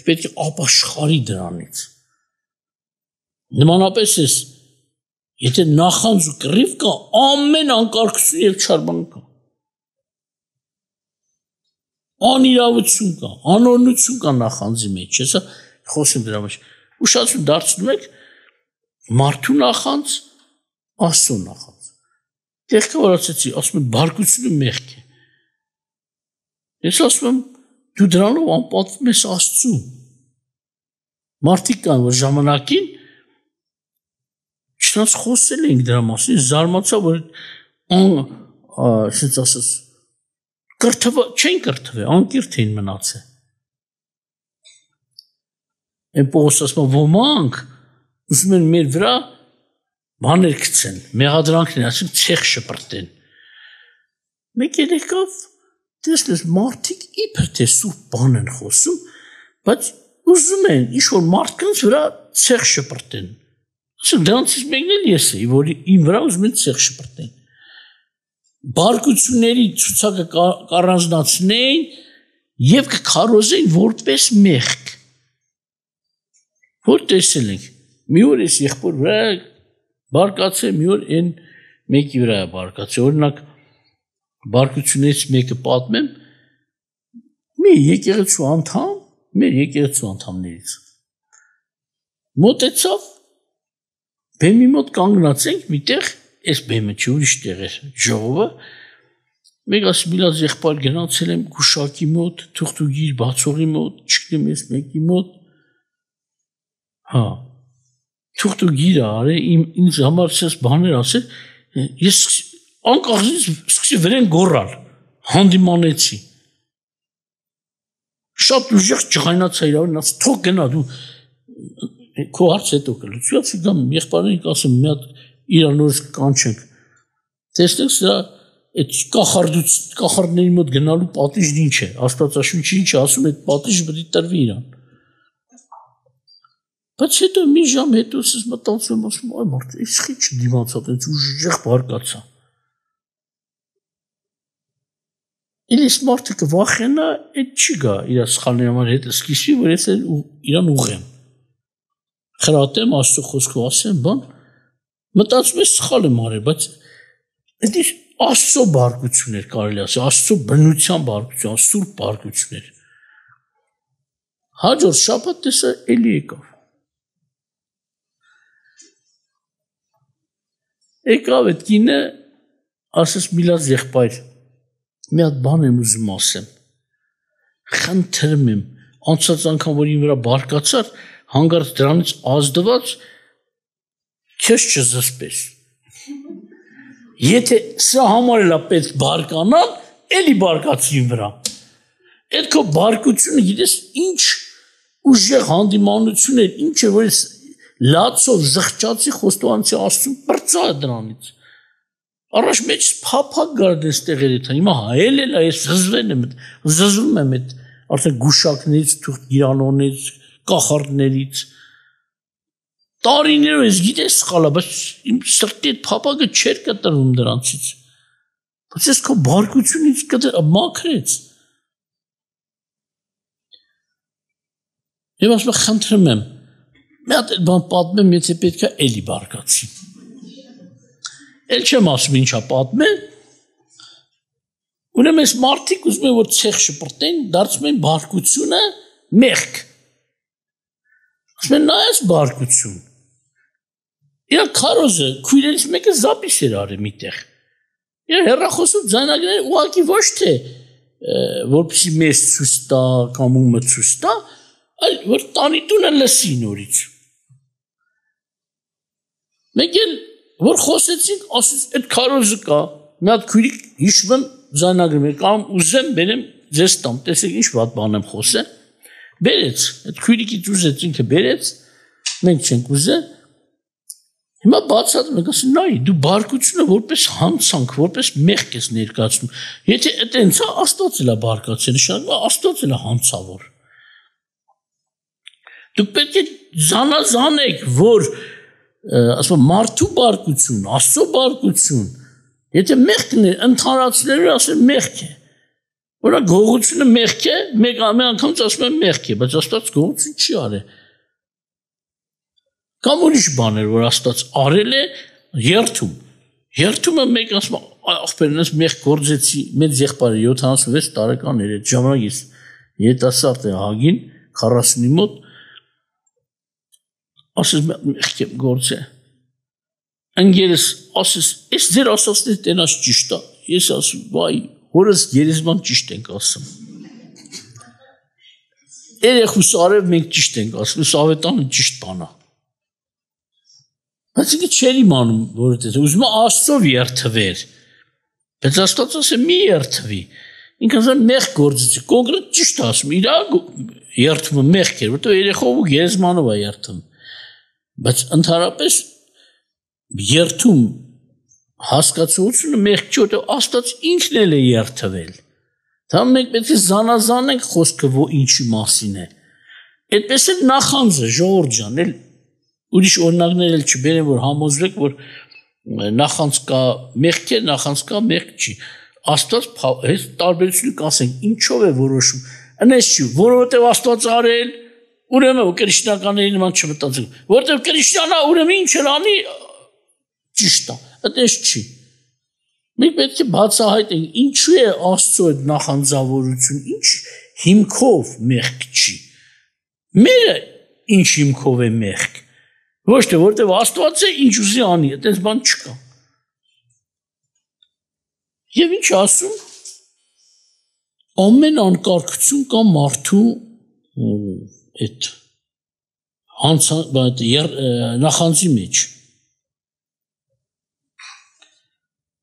Պետք է ապաշխարի դրանից։ Նմանապես է, եթե նախանձ ու կռիվ կա, ամեն անկարգություն եւ չար բան կա։ Անիրավություն կա, անօրնություն կա նախանձի մեջ, հեսա խոսեմ դրա մեջ։ Ուշադրություն դարձնում եք մարդու նախանձ, Աստծո նախանձ։ Տեղքը որ ասեցի, ասում եմ բարկությունը մեղք է։ Ես ասում եմ դու դրանով անպատվում ես Աստծուն։ Մարդիկ կան, որ ժամանակին չնայած խոսել ենք դրա մասին, զարմացա, որ ասենց ասած չեն կրթվել, անկիրթ էին մնացել։ Այն Պողոս ասում ոմանք ուզում են մեր վրա բաներ գցեն, մեղադրանքներ, ասում ցեխ շպրտեն։ Մեկ եկավ, տեսնես մարդիկ իբր թե սուրբ բան են խոսում, բայց ուզում են ինչ-որ մարդկանց վրա ցեխ շպրտեն։ Ասում դրանցից մեկն էլ ես էի, որ իմ վրա ուզում են ցեխ շպրտեն։ Բարկությունների ցուցակը կառանձնացնեին եւ կքարոզեին որպես մեղք։ Որ տեսել ենք, մի օր էս եղբոր վրա բարկացե, մի օր այն մեկի վրա է բարկացե, օրինակ բարկություններից մեկը պատմեմ, մի եկեղեցու անդամ, մեր եկեղեցու անդամներից մոտեցավ, բեմի մոտ կանգնած ենք միտեղ, այս բեմը չի ուրիշ տեղ էր ժողովը, մեկ ասում միլած եղբայր գնացել եմ գուշակի մոտ, թուղթուգիր բացողի մոտ, չգիտեմ ես մեկի մոտ, հա, թուղթուգիրը արել, ինձ համար սես բաներ ասել, ես անկախից սկսի վրեն գոռալ, հանդիմանեցի, շատ ուժեղ ջղայնացա իրավին, ասում թող գնա դու, քո հարց հետո կլուծի, ասի գամ եղբայրին ասում մի հատ իրանորս կանչենք, տեսնեք սրա այդ կախարդների մոտ գնալու պատիժն ինչ է, Աստվածաշունչը ինչ է ասում, այդ պատիժը պետք է տրվի իրան։ Բայց հետո մի ժամ հետո ես մտածում եմ, ասում այ մարդ, այս խիչ դիմացա, այդպես ուժեղ բարկացա։ Իլիս մարդը կվախենա, այդ չի գա իր սխալների համար հետ սկսի, որ ես իրան ուղեմ։ Խրատեմ, Աստծո խոսքով ասեմ, բան, մտածում ես սխալ եմ արել, բայց դա Աստծո բարկություն էր կարելի ասել, Աստծո բնության բարկություն, սուրբ բարկություն էր։ Հաջորդ շաբաթ տեսա էլի եկավ։ Եկավ այդ կինը, ասես միլած եղբայր, մի հատ բան եմ ուզում ասեմ։ Խնդրում եմ, անցած անգամ որ իմ վրա բարկացար, հանգարց դրանից ազդված քեզ չզսպես։ Եթե սա համար էլ պետք բարկանալ, էլի բարկացի իմ վրա։ Այդ քո բարկությունը գիտես ինչ ուժեղ հանդիմանություն էր, ինչ է որ ես լացով զղջացի խոստովանեցի Աստծուն պրծա դրանից։ Առաջ մեջ փափակ գարդես տեղերի թա հիմա հայել էլ այս զզվում եմ այդ արդեն գուշակներից թուղթ գիրանոնից կախարդներից տարիներով ես գիտես սխալա բայց իմ սրտի այդ փափակը չէր կտրվում դրանցից բայց ես քո բարկությունից մաքրեց եւ ասում խնդրում եմ մի հատ բան պատմեմ եթե պետք է էլի բարկացի Էլ չեմ ասում ինչա պատմել, ուրեմն այս մարդիկ ուզում են որ ցեխ շպրտեն, դարձում են բարկությունը մեղք։ Ասում են նայես բարկություն։ Իրա քարոզը քույրերից մեկը զապիս էր արել միտեղ։ Իրա հերախոսու ձայնագրերը ուղղակի ոչ թե որպեսի մեզ ցույց տա կամ ումը ցույց տա, այլ որ տանիտունը լսի նորից։ Մեկ էլ որ խոսեցինք, ասեց այդ քարոզը կա, մի հատ քույրիկ հիշվում ձայնագրում է կամ ուզեմ բերեմ ձեզ տամ, տեսեք ինչ վատ բան եմ խոսել, բերեց, այդ քույրիկից ուզեց ինքը բերեց, մենք չենք ուզել, հիմա բացատրում ենք, ասում նայ, դու բարկությունը որպես հանցանք, որպես մեղք ես ներկայացնում, եթե այտենց է Աստված էլ է բարկացել, նշանակում Աստված էլ է հանցավոր։ Դուք պետք է զանազանեք, որ ասում մարդու բարկություն, Աստծո բարկություն, եթե մեղքն է, ընդհանրացնելու ասել մեղք է, որը գողությունը մեղք է, մեկ անգամից ասում են մեղք է, բայց Աստված գողություն չի արել։ Կամ ուրիշ բաներ, որ Աստված արել է, երթում։ Երթումը մեկ ասում ախպերնս մեղք գործեցի, մեծ եղբայրը 76 տարեկան էր, այդ ժամանակից երիտասարդ է Հագին, 40-ի մոտ ասես մեղք եմ գործել։ Ընկերս ասես, այս ձեր ասածները տենաս ճիշտ է։ Ես ասում, վայ, հորս գերեզման ճիշտ ենք ասում։ Երեխուս արև մենք ճիշտ ենք ասում, Սավետանը ճիշտ բան է։ Բայց ինքը չէր իմանում, որ դա ուզում է Աստծով երթվեր։ Բայց Աստված ասել մի երթվի։ Ինքը ասել մեղք գործեցի, կոնկրետ ճիշտ ասում, իր երթումը մեղք էր, որտեղ երեխով ու գերեզմանով է երթում։ Բայց ընդհանրապես երթում հասկացությունը մեղք չի, որտեղ Աստված ինքն էլ է երթվել։ Դա մենք պետք է զանազանենք խոսքը ինչի մասին է։ Այդպես էլ նախանձը ժողովուրդ ջան, էլ ուրիշ օրինակներ էլ չբերեմ, որ համոզվեք, որ նախանձ կա մեղք է, նախանձ կա մեղք չի։ Աստված այս տարբերությունը կասենք, ինչով է որոշում։ Այնպես չի, որովհետև Աստված արել, ուրեմն քրիստոնյաների նման չմտածենք, որովհետև քրիստոնյա ուրեմն ինչ էլ անի ճիշտ է, այդպես չի։ Մենք պետք է բացահայտենք, ինչու է Աստծո այդ նախանձավորություն, ինչ հիմքով մեղք չի։ Մերը ինչ հիմքով է մեղք։ Ոչ թե որտեղ Աստված է ինչ ուզի անի, այդպես բան չկա։ Եվ ինչ ասում, ամեն անկարգություն կա մարդու այդ նախանձի մեջ։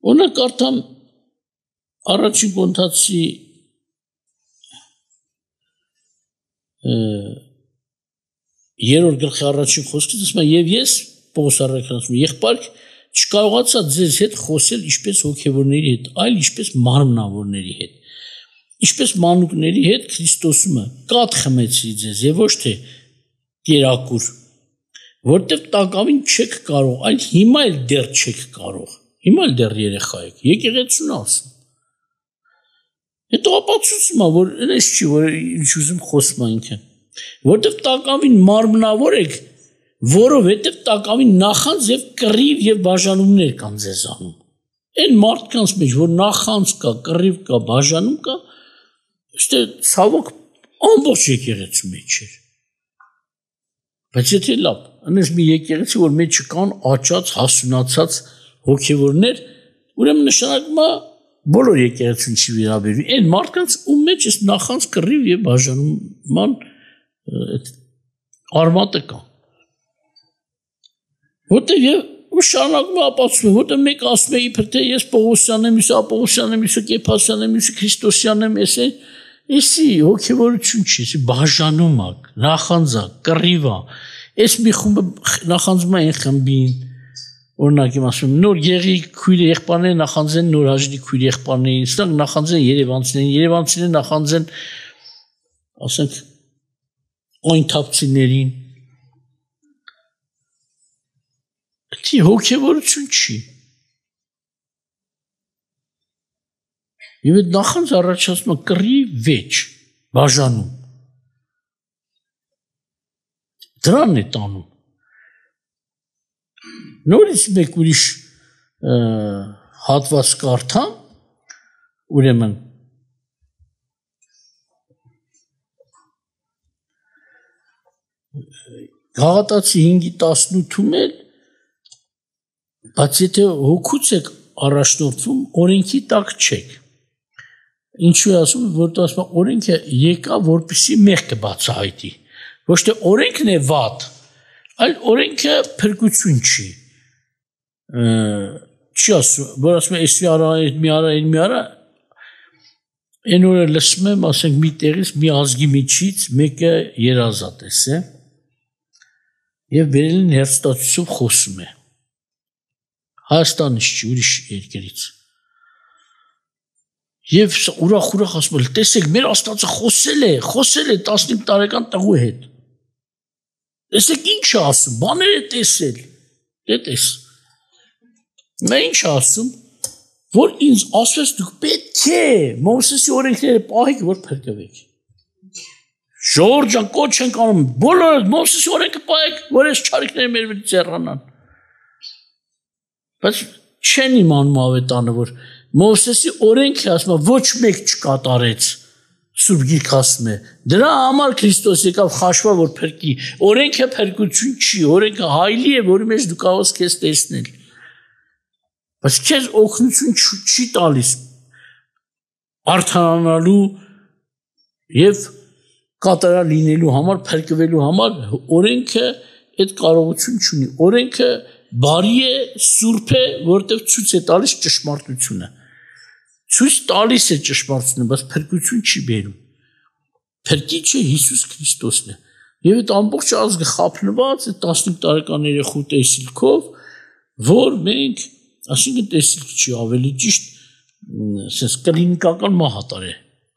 Օրինակ կարդամ առաջին Կորինթացի 3-րդ գլխի առաջին խոսքից ասում է եւ ես Պողոս առաքյալն ասում եղբայր չկարողացա ձեզ հետ խոսել ինչպես հոգևորների հետ, այլ ինչպես մարմնավորների հետ, ինչպես մանուկների հետ Քրիստոսումը կաթ խմեցի ձեզ եւ ոչ թե կերակուր, որտեղ տակավին չեք կարող, այլ հիմա էլ դեռ չեք կարող, հիմա էլ դեռ երեխա եք, եկեղեցուն ասում։ Հետո ապացուցում է, որ այնպես չի, որ ինչ ուզում խոսում է ինքը, որտեղ տակավին մարմնավոր եք, որովհետև տակավին նախանձ եւ կռիվ եւ բաժանումներ կան ձեզանում։ Այն մարդկանց մեջ, որ նախանձ կա, կռիվ կա, բաժանում կա, ըստե ցավոք ամբողջ եկեղեցու մեջ է։ Բայց եթե լավ, այնպես մի եկեղեցի, որ մեջ կան աճած, հասունացած հոգևորներ, ուրեմն նշանակում է բոլոր եկեղեցուն չի վերաբերվի։ Այն մարդկանց ում մեջ է նախանձ, կռիվ եւ բաժանման արմատը կա։ Որտեղ եւ շարունակում է ապացուցում, որտեղ մեկ ասում է իբր թե ես Պողոսյան եմ, իսկ Ապողոսյան եմ, իսկ Կեփասյան եմ, իսկ Քրիստոսյան եմ, էսի հոգևորություն չի, էսի բաժանում է, նախանձ է, կռիվ է։ Էս մի խումբը նախանձում է այն խմբին, օրինակ իմ ասում նոր եղի քույր եղբայրները նախանձեն նոր հաջի քույր եղբայրներին, սրանք նախանձեն Երևանցիներին նախանձեն ասենք այն թափցիներին Դի հոգևորություն չի Եվ այդ նախանձ առաջացնում է կռի վեճ բաժանում Դրան է տանում Նորից մեկ ուրիշ հատված կարդամ ուրեմն Գաղատացի 5:18-ում էլ բայց եթե հոգուց եք առաջնորդվում օրենքի տակ չեք Ինչու է ասում որտեղ ասում է օրենքը եկա որպեսզի մեղքը բացահայտի ոչ թե օրենքն է վատ այլ օրենքը փրկություն չի չի ասում որ ասում է էս մի արա այն օրը լսում եմ ասենք մի տեղից մի ազգի միջից մեկը երազատես է եւ բերելին հերթստացությամբ խոսում է Հայաստանից չի ուրիշ երկրից Եվ ուրախ ասում է տեսեք մեր Աստվածը խոսել է 15 տարեկան տղու հետ Տեսեք ինչ է ասում բաներ է տեսել դե տես Նա ինչ է ասում որ ինձ ասես դուք պետք է Մովսեսի օրենքները պահեք որ փրկվեք Ժողովուրդ ջան կոչ ենք անում բոլորը Մովսեսի օրենքը պահեք որ այս չարիքները մեր վրա ձեռանան Բայց չեն իմանում ավետանը որ Մովսեսի օրենքը ասում է ոչ մեկ չկատարեց Սուրբ Գիրքը ասում է դրա համար Քրիստոս եկավ խաշվա որ փրկի օրենքը փրկություն չի օրենքը հայլի է որի մեջ դու կարող ես քեզ տեսնել Բայց քեզ օգնություն չի տալիս արդարանալու եւ կատարյալ լինելու համար փրկվելու համար օրենքը այդ կարողություն չունի օրենքը բարի է սուրբ է որտեղ ցույց է տալիս ճշմարտությունը ցույց տալիս է ճշմարտությունը բայց փրկություն չի բերում փրկիչը Հիսուս Քրիստոսն է եւ այդ ամբողջ ազգը խափնված է 15 տարեկան երեխու տեսիլքով որ մենք այսինքն տեսիլք չի ավելի ճիշտ sense կլինիկական մահատար է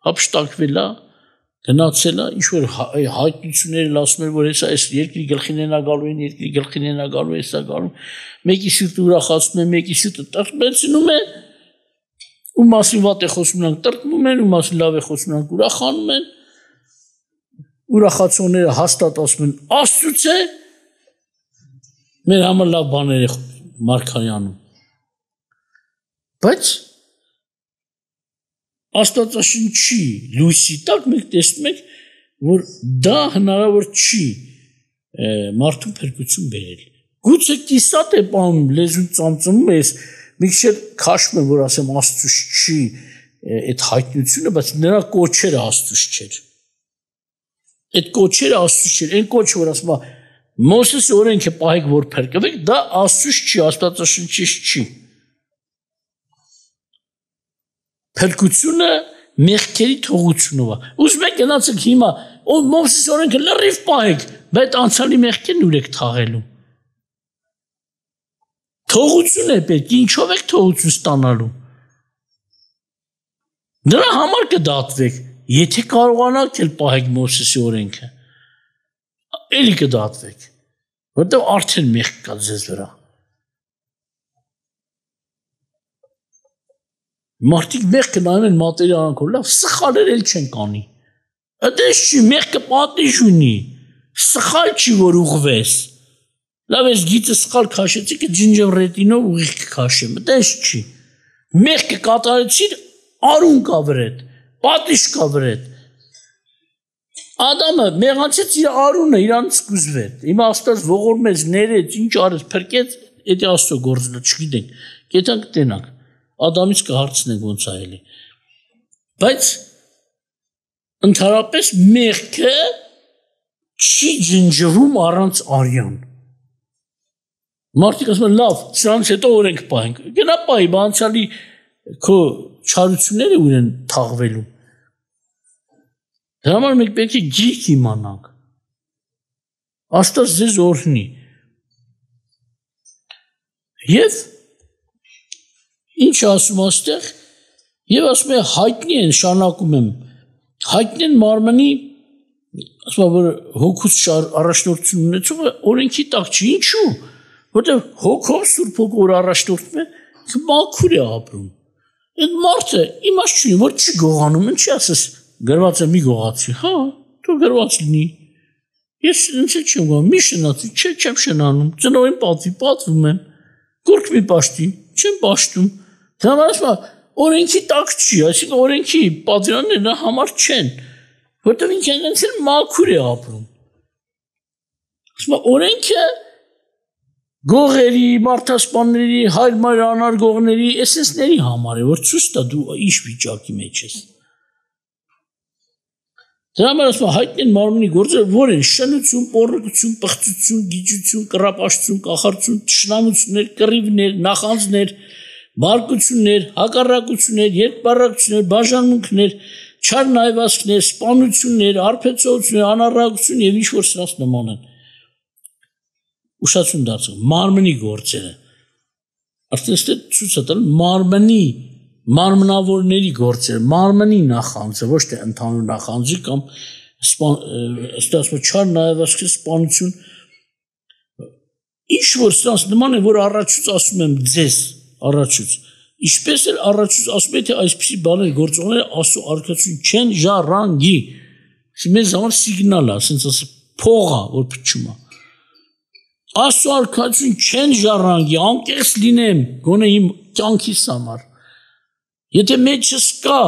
հապշտակվել է գնացել է ինչ որ հայտնությունները ասում են որ հեսա այս երկրի գլխին են գալու են երկրի գլխին են գալու հեսա գալու մեկի սիրտը ուրախացնում է մեկի սիրտը տրտմեցնում է ու մասին վատ է խոսում նրանք տրտմում են ու մասին լավ է խոսում նրանք ուրախանում են ուրախացողները հաստատ ասում են Աստծուց է մեր համար լավ բաներ է մարգարյանում բայց Աստվածաշնչի լույսի տակ մենք տեսնում ենք որ դա հնարավոր չի մարդու փրկություն բերել գուցե կիսատ է բանում լեզուն ծամծմում ես մի քիչ քաշում եմ որ ասեմ Աստծուց չի այդ հայտնությունը բայց նրա կոչերը Աստծուց չէր այդ կոչերը Աստծուց չէր այն կոչը որ ասում է Մովսեսի օրենքը պահեք որ փրկվեք դա Աստծուց չի Աստվածաշնչից չի Փրկությունը մեղքերի թողությունով է։ Ուզում եք գնացեք հիմա, ով Մովսեսի օրենքը լրիվ պահեք, բայց անցյալի մեղքերն ուր եք թաղելու։ Թողություն է պետք, ինչով եք թողություն ստանալու։ Դրա համար կդատվեք, եթե կարողանաք էլ պահեք Մովսեսի օրենքը։ Էլի կդատվեք, որտեղ արդեն մեղք կա ձեզ վրա։ Մարդիկ մեղքը նայում են մատերիալանքով, լավ, սխալներ էլ չեն կանի։ Այդպես չի, մեղքը պատիժ ունի, սխալ չի, որ ուղվես։ Լավ, ես գիծը սխալ քաշեցի, կը ջինջավրետինով ուղիղ կքաշեմ, այդպես չի։ Մեղքը կատարեցին, արուն կա վրեդ, պատիժ կա վրեդ։ Ադամը մեղանցեց իր արունը, իրանից կուզվեց։ Հիմա Աստված ողորմեց, ներեց, ինչ արեց, փրկեց, էդի Աստծո գործը չգիտենք։ Գետանք տենանք։ Ադամից կհարցնենք ոնց է էլի։ Բայց ընդհանրապես մեղքը չի ջնջվում առանց արյան։ Մարդիկ ասում են լավ, սրանից հետո օրենք պահենք։ Գնա պահի, անցյալի քո չարությունները ուր են թաղվելու։ Դրա համար մենք պետք է գիրք իմանանք։ Աստված ձեզ օրհնի։ Եվ ինչ ասում աստեղ, եւ ասում է հայտնի են շարունակում եմ, հայտնի են մարմնի, ասում որ հոգուց առաջնորդություն ունեցողը օրենքի տակ չի, ինչու, որտեղ հոգով Սուրբ Հոգով առաջնորդվում է, մաքուր է ապրում։ Այդ մարդը իմաստ չունի, որ չի գողանում, ինչի ասես, գրված է մի գողացի, հա, դու գրված լինի։ Ես ինձ չեմ գողանում, մի շնացի, չեմ շնանում, ծնողին պատվում եմ, կուրկ մի պաշտի, չեմ պաշտում։ Դա ասում է, օրենքի տակ չի, այսինքն օրենքի պատվիրանները համար չեն, որտեղ ինքն ինձ էլ մաքուր է ապրում։ Ասում է, օրենքը գողերի, մարդասպանների, հայր-մայր անարգողների, էսենսների համար է, որ ցույց տա դու ինչ վիճակի մեջ ես։ Դրա համար ասում հայտնի են մարմնի գործերը, որ են շնություն, պոռնկություն, պղծություն, գիջություն, կռապաշտություն, կախարդություն, թշնամություններ, կռիվներ, նախանձներ, բարկություններ, հակառակություններ, երկբառակություններ, բաժանմունքներ, չար նայվածքներ, սպանություններ, արբեցողություններ, անառակություն եւ ինչ որ սրանց նման են։ Ուշացում դարձող մարմնի գործերը արդեն ստե ցույց է տալ մարմնի մարմնավորների գործերը մարմնի նախանձը ոչ թե ընդհանուր նախանձի կամ ստացվում չար նայվածքի սպանություն ինչ որ սրանց նման է որ առաջուց ասում եմ ձեզ առաջուց ինչպես էլ առաջուց ասում է թե այսպիսի բաներ գործողները աստծո արքայություն չեն ժառանգի մեզ համար սիգնալ է ասենց ասը փող է որ փչում է Աստծո արքայություն չեն ժառանգի, անկեղծ լինեմ, գոնե իմ կյանքիս համար։ Եթե մեջս կա,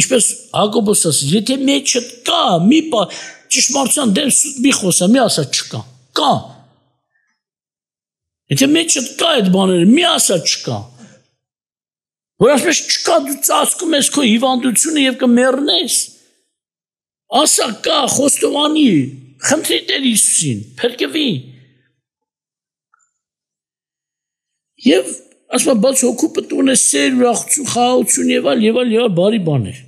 ինչպես Հակոբոս ասաց, եթե մեջդ կա, մի ճշմարտության դեմ սուտ մի խոսա, մի ասա չկա, կա։ Եթե մեջդ կա այդ բաները, մի ասա չկա։ Որ ասես չկա, դու ծածկում ես քո հիվանդությունը եւ կմեռնես։ Ասա կա, խոստովանի, խնդրի Տեր Հիսուսին, փրկվի։ Եվ ասում բաց հոգու պտուն է սեր, ուրախություն, խաղաղություն եւ այլ բարի բաներ։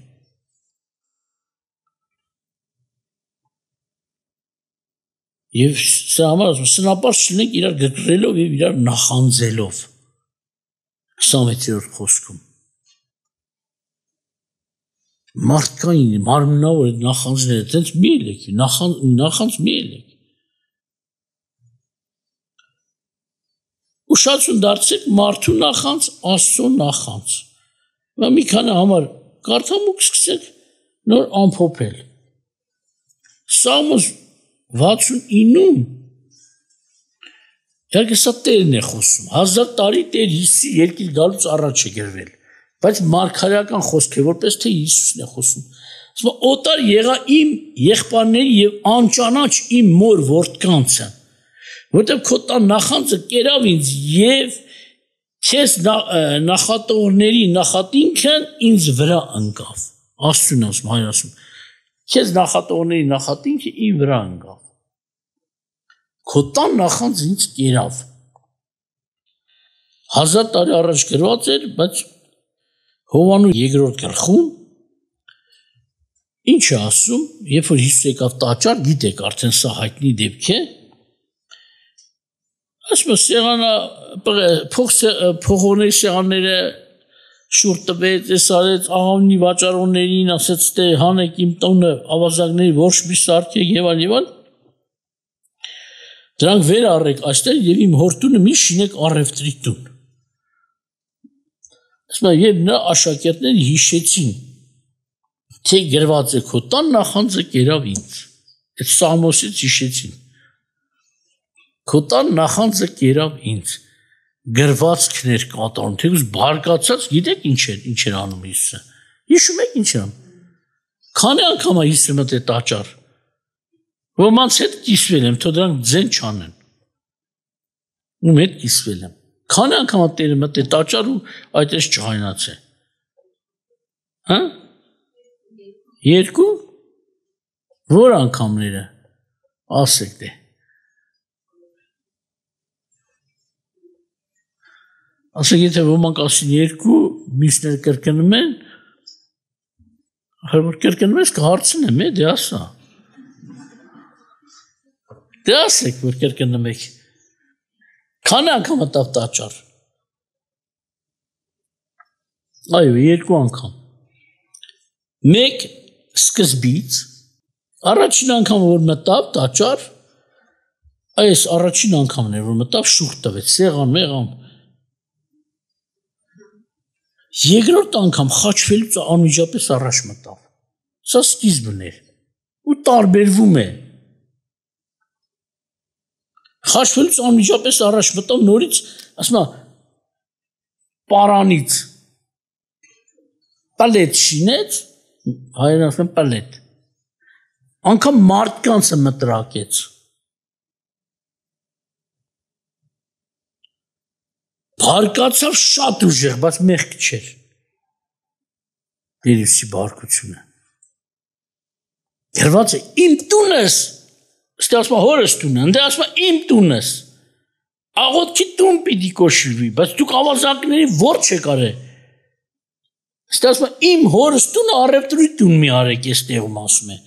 Եվ սա համար ասում սնապարզ չլինենք իրար գրգռելով եւ իրար նախանձելով 26-րդ խոսքում։ Մարդկային մարմնավոր նախանձները տենց մի ելեք, նախանձ մի ելեք։ Ուշացում դարձեք մարդու նախանձ, Աստծո նախանձ։ Và մի քանի համար կարդամ ու սկսեք նոր ամփոփել։ Սաղմոս 69-ում Իհարկե սա Տերն է խոսում, 1000 տարի Տեր Հիսուսի երկիր գալուց առաջ է գրվել, բայց մարգարեական խոսք է, որպես թե Հիսուսն է խոսում։ Ասում օտար եղա իմ եղբայրների եւ անճանաչ իմ մոր որդկանցը Որտեղ քո տան նախանձը կերավ ինձ եւ քեզ նախատողների նախատինքն ինձ վրա ընկավ։ Աստծուն ասում, հայր ասում, քեզ նախատողների նախատինքը ինձ վրա ընկավ։ Քո տան նախանձը ինձ կերավ։ 1000 տարի առաջ գրված էր, բայց Հովանու 2-րդ գլխում ինչ է ասում, երբ որ Հիսուս եկավ տաճար, գիտեք, արդեն սա հայտնի դեպք է։ Ասում սեղանը փողոների սեղանները շուռ տվեց, էսարեց աղավնի վաճառողներին, ասեց թե հանեք իմ տունը ավազակների ոչ մի սարքեք եւ այլ։ Դրանք վեր առեք այստեղ եւ իմ հոր տունը մի շինեք առևտրի տուն։ Ասում եւ նա աշակերտները հիշեցին, թե գրված է քո տան նախանձը կերավ ինձ։ Այդ Սամոսից հիշեցին։ Քո տան նախանձը կերավ ինձ, գրվածքներ կատարում, թեկուզ բարկացած, գիտեք ինչ էր անում Հիսուսը, հիշում եք ինչ էր անում, քանի անգամ է Հիսուսը մտել տաճար, ոմանց հետ կիսվել եմ, թող դրանք ձեն չանեն, ում հետ կիսվել եմ, քանի անգամ է Տերը մտել տաճար ու այդպես չհայնացել, հա, 2, որ անգամները, ասեք դե, ասեք եթե ոմանք ասին 2, մյուսները կրկնում են, որ կրկնում ես կհարցնեմ, դե ասա։ Դե ասեք, որ կրկնում եք։ Քանի անգամ մտավ տաճար։ Այո, 2 անգամ։ Մեկ սկզբից առաջին անգամ որ մտավ տաճար, այս առաջին անգամն էր որ մտավ շուռ տվեց, սեղան, մեղան։ Երկրորդ անգամ խաչվելուց անմիջապես առաջ մտավ։ Սա սկիզբն էր ու տարբերվում է։ Խաչվելուց անմիջապես առաջ մտավ նորից, ասում է, պարանից պալետ շինեց, հայերեն ասում են պալետ։ Անգամ մարդկանցը մտրակեց։ Բարկացավ շատ ուժեղ, բայց մեղք չէր։ Տերուսի բարկությունը։ Գրված է իմ տունս, ստե ասում է հորս տունը, ընդ ասում է իմ տունս։ Աղոթքի տուն պիտի կոչվի, բայց դուք ավազակների ворջ եք արել։ Ստե ասում է իմ հորս տունը առևտրի տուն մի արեք, այս տեղում ասում է։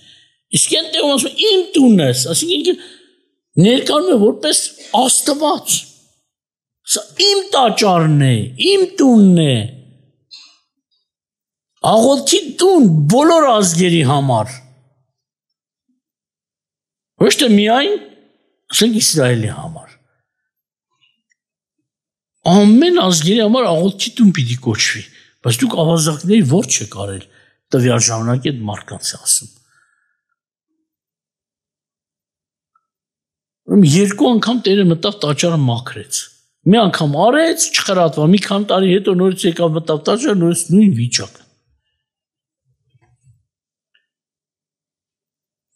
Իսկ այն տեղում ասում է իմ տունս, այսինքն ներկայանում է որպես Աստված։ Սա իմ տաճարն է, իմ տունն է։ Աղոթքի տուն բոլոր ազգերի համար։ Ոչ թե միայն ասենք Իսրայելի համար։ Ամեն ազգերի համար աղոթքի տուն պիտի կոչվի, բայց դուք ավազակների ворջ չեք արել, տվյալ ժամանակ այդ մարդկանց ասում։ Երկու անգամ Տերը մտավ տաճարը մաքրեց։ Մի անգամ արեց, չխրատվա, մի քանի տարի հետո նորից եկավ մտավ տաճարը, նորից նույն վիճակը։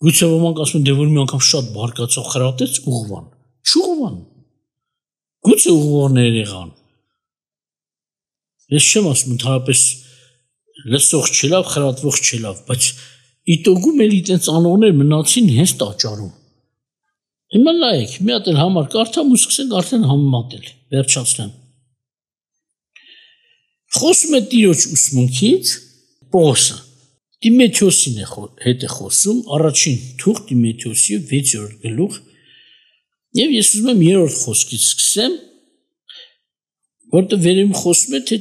Գուցե ոմանք ասում են, դե որ մի անգամ շատ բարկացավ, խրատեց, ուղղվան։ Չուղղվան։ Գուցե ուղղողներ եղան։ Ես չեմ ասում ընդհանրապես լսող չելավ, խրատվող չելավ, բայց իտոգում էլի այդպես անողներ մնացին հենց տաճարում։ Հիմա նայեք, մի հատ էլ համար կարդամ ու սկսենք արդեն համեմատել, վերջացնեմ։ Խոսում է Տիրոջ ուսմունքից Պողոսը։ Տիմոթեոսին հետ է խոսում, առաջին թուղթ Տիմոթեոսի 6-րդ գլուխ, եւ ես ուզում եմ 3-րդ խոսքից սկսեմ, որտեղ վերևում խոսում է, թե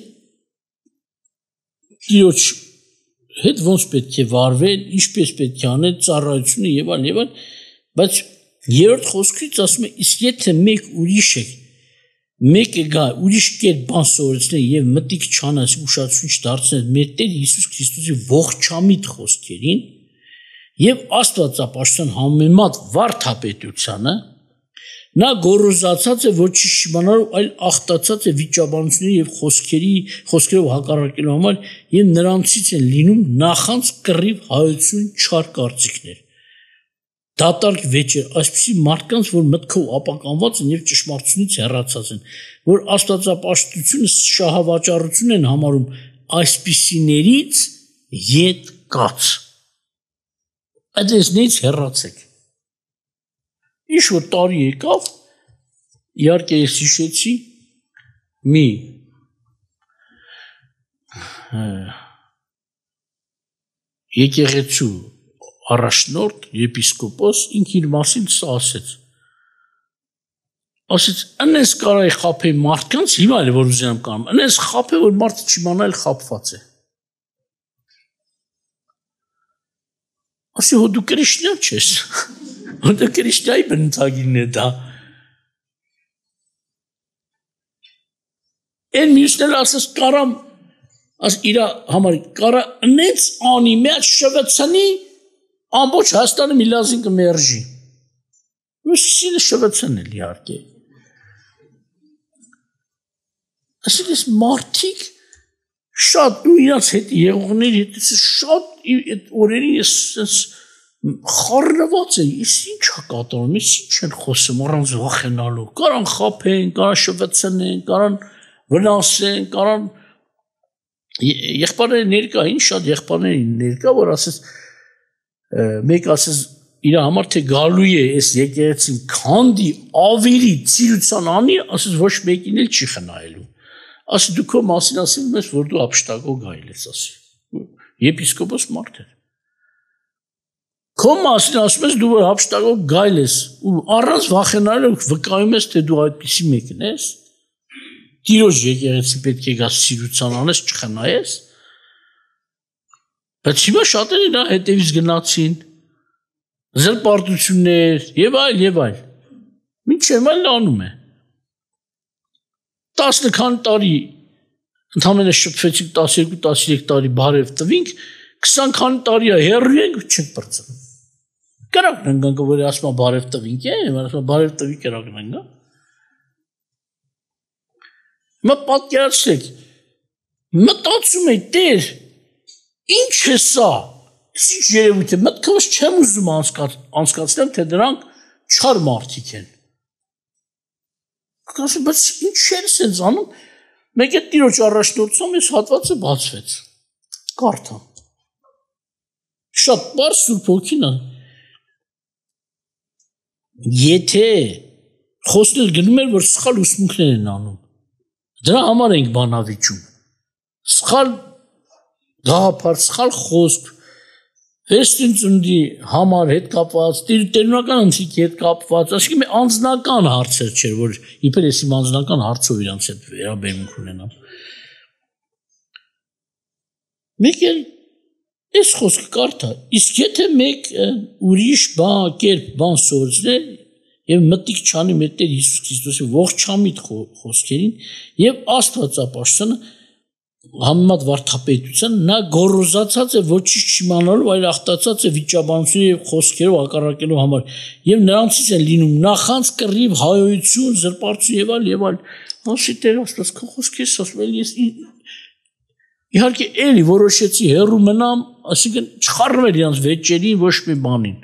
Տիրոջ հետ ոնց պետք է վարվել, ինչպես պետք է անել, ծառայությունը եւ այլն, բայց 3-րդ խոսքից ասում է, իսկ եթե մեկ ուրիշ է, մեկը գա ուրիշ կերպ բան սովորեցնել եւ մտիկ չանած ուշադրություն չդարձնել մեր Տեր Հիսուս Քրիստոսի ողջամիտ խոսքերին եւ Աստվածապաշտության համեմատ վարդապետությանը, նա գոռոզացած է ոչ շիմանալու, այլ ախտացած է վիճաբանությունների եւ խոսքերով հակառակելու համար եւ նրանցից են լինում նախանց կռիվ հայություն չար կարծիքներ։ Դատարկ վեճեր, այսպիսի մարդկանց, որ մտքով ապականված են եւ ճշմարտությունից հեռացած են, որ աստվածապաշտությունը շահավաճառություն են համարում, այսպիսիներից ետ կաց։ Այդտեղից հեռացեք։ Ինչ որ տարի եկավ, իհարկե ես հիշեցի մի եկեղեցու առաջնորդ, եպիսկոպոս, ինք իր մասին սա ասեց։ Ասեց, ընես կարայի խապե մարդկանց, հիմա էլ որ ուզենամ կանեմ, ընես խապե, որ մարդը չիմանա էլ խապված է։ Ասի, հո դու քրիշտյան չես, հո դու քրիշտյայի բնութագիրն է դա։ Են մյուսներ ասես կարամ, իրա համար կարա ընեց անի, մեծ շվեցանի, ամբողջ Հայաստանը մի լազին կմերժի։ Ուսիսինը շվեցան էլ իհարկե։ Այսինքն մարդիկ շատ ու իրաց հետ եղողների հետ շատ այդ օրերին ես խառնված եմ, ես ինչ է կատարում, ես ինչ են խոսում առանց վախենալու։ Կարան խափեն, կարան շվեցնեն, կարան վնասեն, կարան եղբայրները ներկա, ինչ շատ եղբայրներ ներկա, որ ասես մեկ ասես իր համար թե գալու է այս եկեղեցին քանդի ավելի ծիրության անի, ասես ոչ մեկին էլ չի խնայելու։ Ասի դու քո մասին ասում ես, որ դու ապշտակող գայել ես, ասի։ Եպիսկոպոս մարդ էր։ Քո մասին ասում ես դու որ հապշտակով գայլ ես ու առանց վախենալու վկայում ես թե դու այդպիսի մեկն ես։ Տիրոջ եկեղեցի պետք է գաս սիրության անես, չխնայես։ Բայց հիմա շատերը նա հետևից գնացին, զրպարտություններ եւ այլ։ Մինչև այլ անում է։ 10 քանի տարի ընդամենը շփվեցինք 12-13 տարի բարև տվինք, 20 քանի տարի է հեռու ենք չենք բրծնում։ Կրակն ենք որ ասում բարև տվինք է, ասում բարև տվի կրակն ենք։ Մա պատկերացրեք, մտածում եք Տեր, ինչ է սա։ Ինչ երևույթ է, մտքովս չեմ ուզում անցկացնեմ, թե դրանք չար մարդիկ են։ Կասեմ, բայց ինչ էր սենց անում, մեկ է տիրոջ առաջնորդությամբ ես հատվածը բացվեց, կարդամ, շատ պարզ Սուրբ Հոգին եթե խոսնել գնում էր, որ սխալ ուսմունքներ են անում, դրա համար ենք բանավիճում, սխալ գաղափար, սխալ խոսք, Վերստին ծննդի համար հետ կապված, տերունական ընթրիքի հետ կապված, ասիկի մի անձնական հարցեր չէր, որ իբր ես իմ անձնական հարցով իրանց հետ վերաբերմունք ունենամ։ Մեկ էլ այս խոսքը կարդա, իսկ եթե մեկ ուրիշ բան սովորեցնել եւ մտիկ չանի մեր Տեր Հիսուս Քրիստոսի ողջամիտ խոսքերին եւ Աստվածապաշտությունը համեմատ վարդապետության նա գոռոզացած է ոչինչ չիմանալով, այլ ախտացած է վիճաբանությունների եւ խոսքերով հակառակելու համար եւ նրանցից են լինում նախանց կռիվ, հայոյություն, զրպարտություն եւ այլ։ Ասի Տեր Աստված, քո խոսքերս ասում եմ ես իհարկե էլի որոշեցի հեռու մնամ, այսինքն չխառնվել իրանց վեճերին, ոչ մի բանին։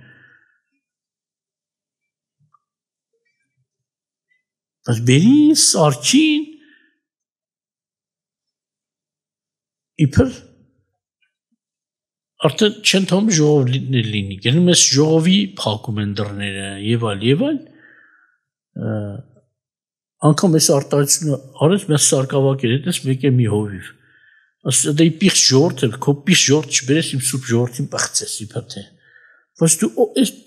Բայց բերի սարքին իբր արդեն չեն թվում ժողովներ լինի, գնում ես ժողովի փակում են դռները եւ այլ, անգամ ես արտահայտությունը արեց մեծ սարկավակեր, հետս մեկ է մի հովիվ, ասա դե պիղծ ժողովուրդ է, քո պիղծ ժողովուրդ չբերես իմ սուրբ ժողովրդին պղծես իբր թե, բայց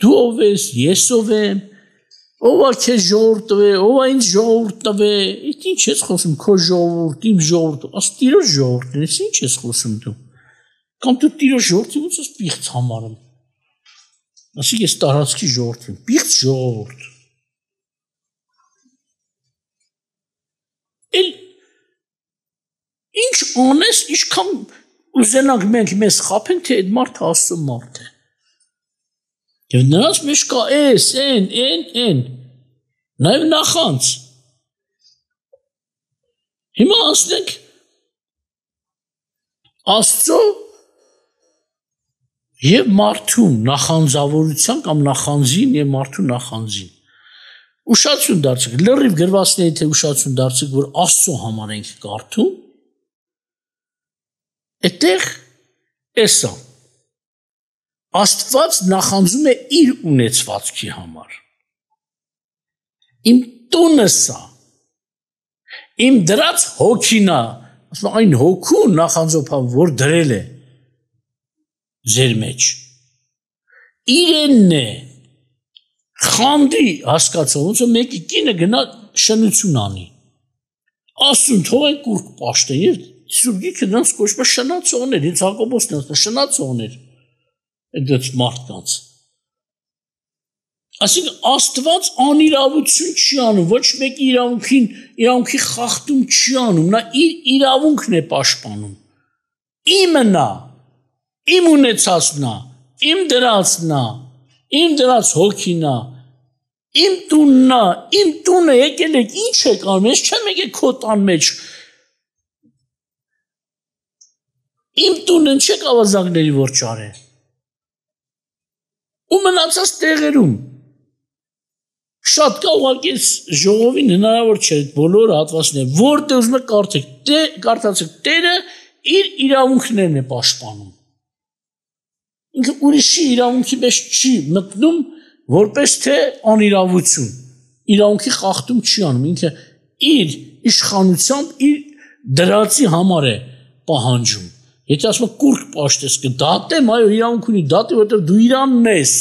դու ով ես, ես ով եմ, ով է քեզ ժողովուրդ տվե, ով է ինձ ժողովուրդ տվե, ինչ ես խոսում, քո ժողովուրդ, իմ ժողովուրդ, աս տիրոջ ժողովուրդն ես, ինչ ես խոսում դու, կամ դու տիրոջ ժողովրդին ոնց ես պիղծ համարում, ասիկ ես տարածքի ժողովրդին, պիղծ ժողովուրդ, էլ ինչ անես, ինչքան ուզենանք մենք մեզ խափենք, թե այդ մարդը Աստծո մարդ է, և նրանց մեջ կա էս, են, նաև նախանց, հիմա ասնենք Աստծո և մարդու նախանձավորության կամ նախանձին և մարդու նախանձին, ուշացություն դարձեք, լրիվ գրվածների թե ուշացություն դարձեք, որ Աստծո համար ենք կարդում, այդտեղ էսա, Աստված նախանձում է իր ունեցվածքի համար, իմ տունը սա, իմ դրած հոգինա, ասում այն հոգուն նախանձոփան, որ դրել է ձեր մեջ, իրենն է, խանդի հասկացող, ոնց որ մեկի կինը գնա շնություն անի, ասում թող այն կուրկ պաշտեն, և Սուրբ Գիրքը նրանց կոչում է շնացողներ, ինձ Հակոբոսն ասում է շնացողներ, այդ մարդկանց։ Այսինքն Աստված անիրավություն չի անում, ոչ մեկի իրավունքի խախտում չի անում, նա իր իրավունքն է պաշտպանում։ Իմը նա, իմ ունեցածն է, իմ դրածն է, իմ դրած հոգին է, իմ տունն է, իմ տունը եկել եք, ինչ եք անում, ես չեմ եկել քո տան մեջ։ Իմ տունն չեք ավազակների որ չարե։ Ու մնացած տեղերում շատ կա ուղղակի ժողովին հնարավոր չէ այդ բոլոր հատվածները, որտեղ ուզում եք կարդացեք, Տերը իր իրավունքներն է պաշտպանում։ Ինքը ուրիշի իրավունքի մեջ չի մտնում, որպես թե անիրավություն, իրավունքի խախտում չի անում, ինքը իր իշխանությամբ իր դրածի համար է պահանջում։ Եթե ասում կուրկ պաշտես կդատեմ, այո, իրավունք ունի դատի, որովհետև դու Իրանն ես։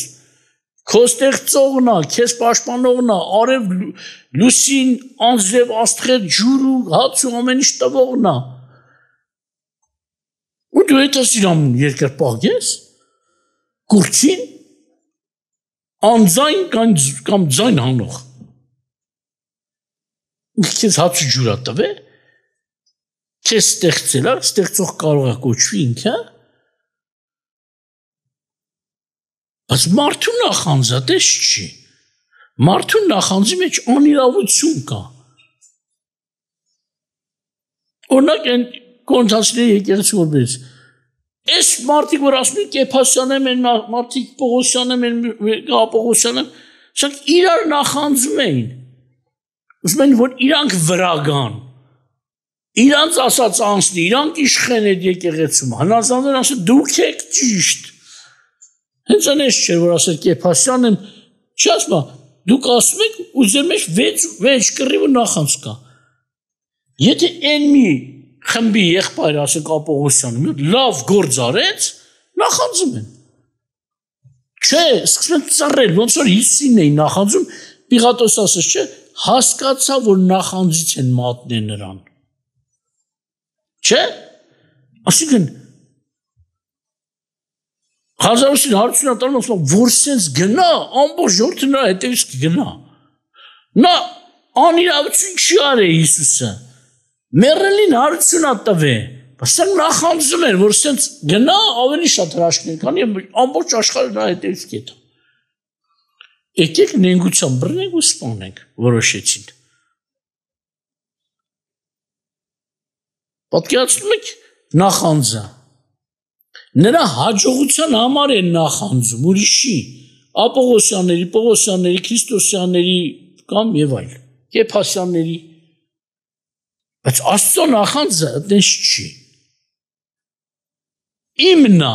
Քո ստեղծողն է, քեզ պաշտպանողն է, արև լուսին, անձրև, աստղեր, ջուր ու հաց ու ամեն ինչ տվողն է։ Ու դու այդ Իրանն երկրպագ ես։ Կուրցին անձայն կամ ձայն հանող։ Քեզ հաց ու ջուր է տվել։ Քեզ ստեղծել է, ստեղծող կարող է կոչվի ինքը։ Բայց մարդու նախանձը դες չի։ Մարդու նախանձի մեջ անիրավություն կա։ Օրինակ այն կոնցանցիների եկեղեցու որպես այս մարդիկ որ ասում են Կեփասյանն են, մարդիկ Պողոսյանն են, Պողոսյանն, սրանք իրար նախանձում էին։ Ուզում են որ իրանք վրա գան։ Իրանց ասած անցնի, իրանք իշխեն այդ եկեղեցում։ Հնազանդներ ասում դուք եք ճիշտ։ Հենց այնպես չէ որ ասել Կեփասյանն չի ասում, դուք ասում եք ու ձեր մեջ վեճ կռիվ ու նախանձ կա։ Եթե այն մի խմբի եղբայր ասեք Պողոսյանը մի լավ գործ արեց, նախանձում են։ Չէ, սկսում են ծռել, ոնց որ Հիսուսին էին նախանձում, Պիղատոս ասաց, չէ, հասկացա, որ նախանձից են մատնել նրան։ Չէ, ասիկն Հազարուսին հարցունա տանում ասում, որ սենց գնա, ամբողջ ժողովուրդը նրա հետևից կգնա։ Նա անիրավություն չի արել Հիսուսը։ Մեռելին հարցունա տվե, բայց սա նախանձում էր, որ սենց գնա ավելի շատ հրաշքներ կանի, ամբողջ աշխարհը նրա հետևից կգնա։ Եկեք նենգության բռնենք ու սպանենք, որոշեցին։ Պատկերացնում եք նախանձը։ Նրա հաջողության համար են նախանձում, ուրիշի, Պողոսյանների, Պողոսյանների, Քրիստոսյանների կամ եւ այլ, Կեփասյանների։ Բայց Աստծո նախանձը այդպես չի։ Իմն է։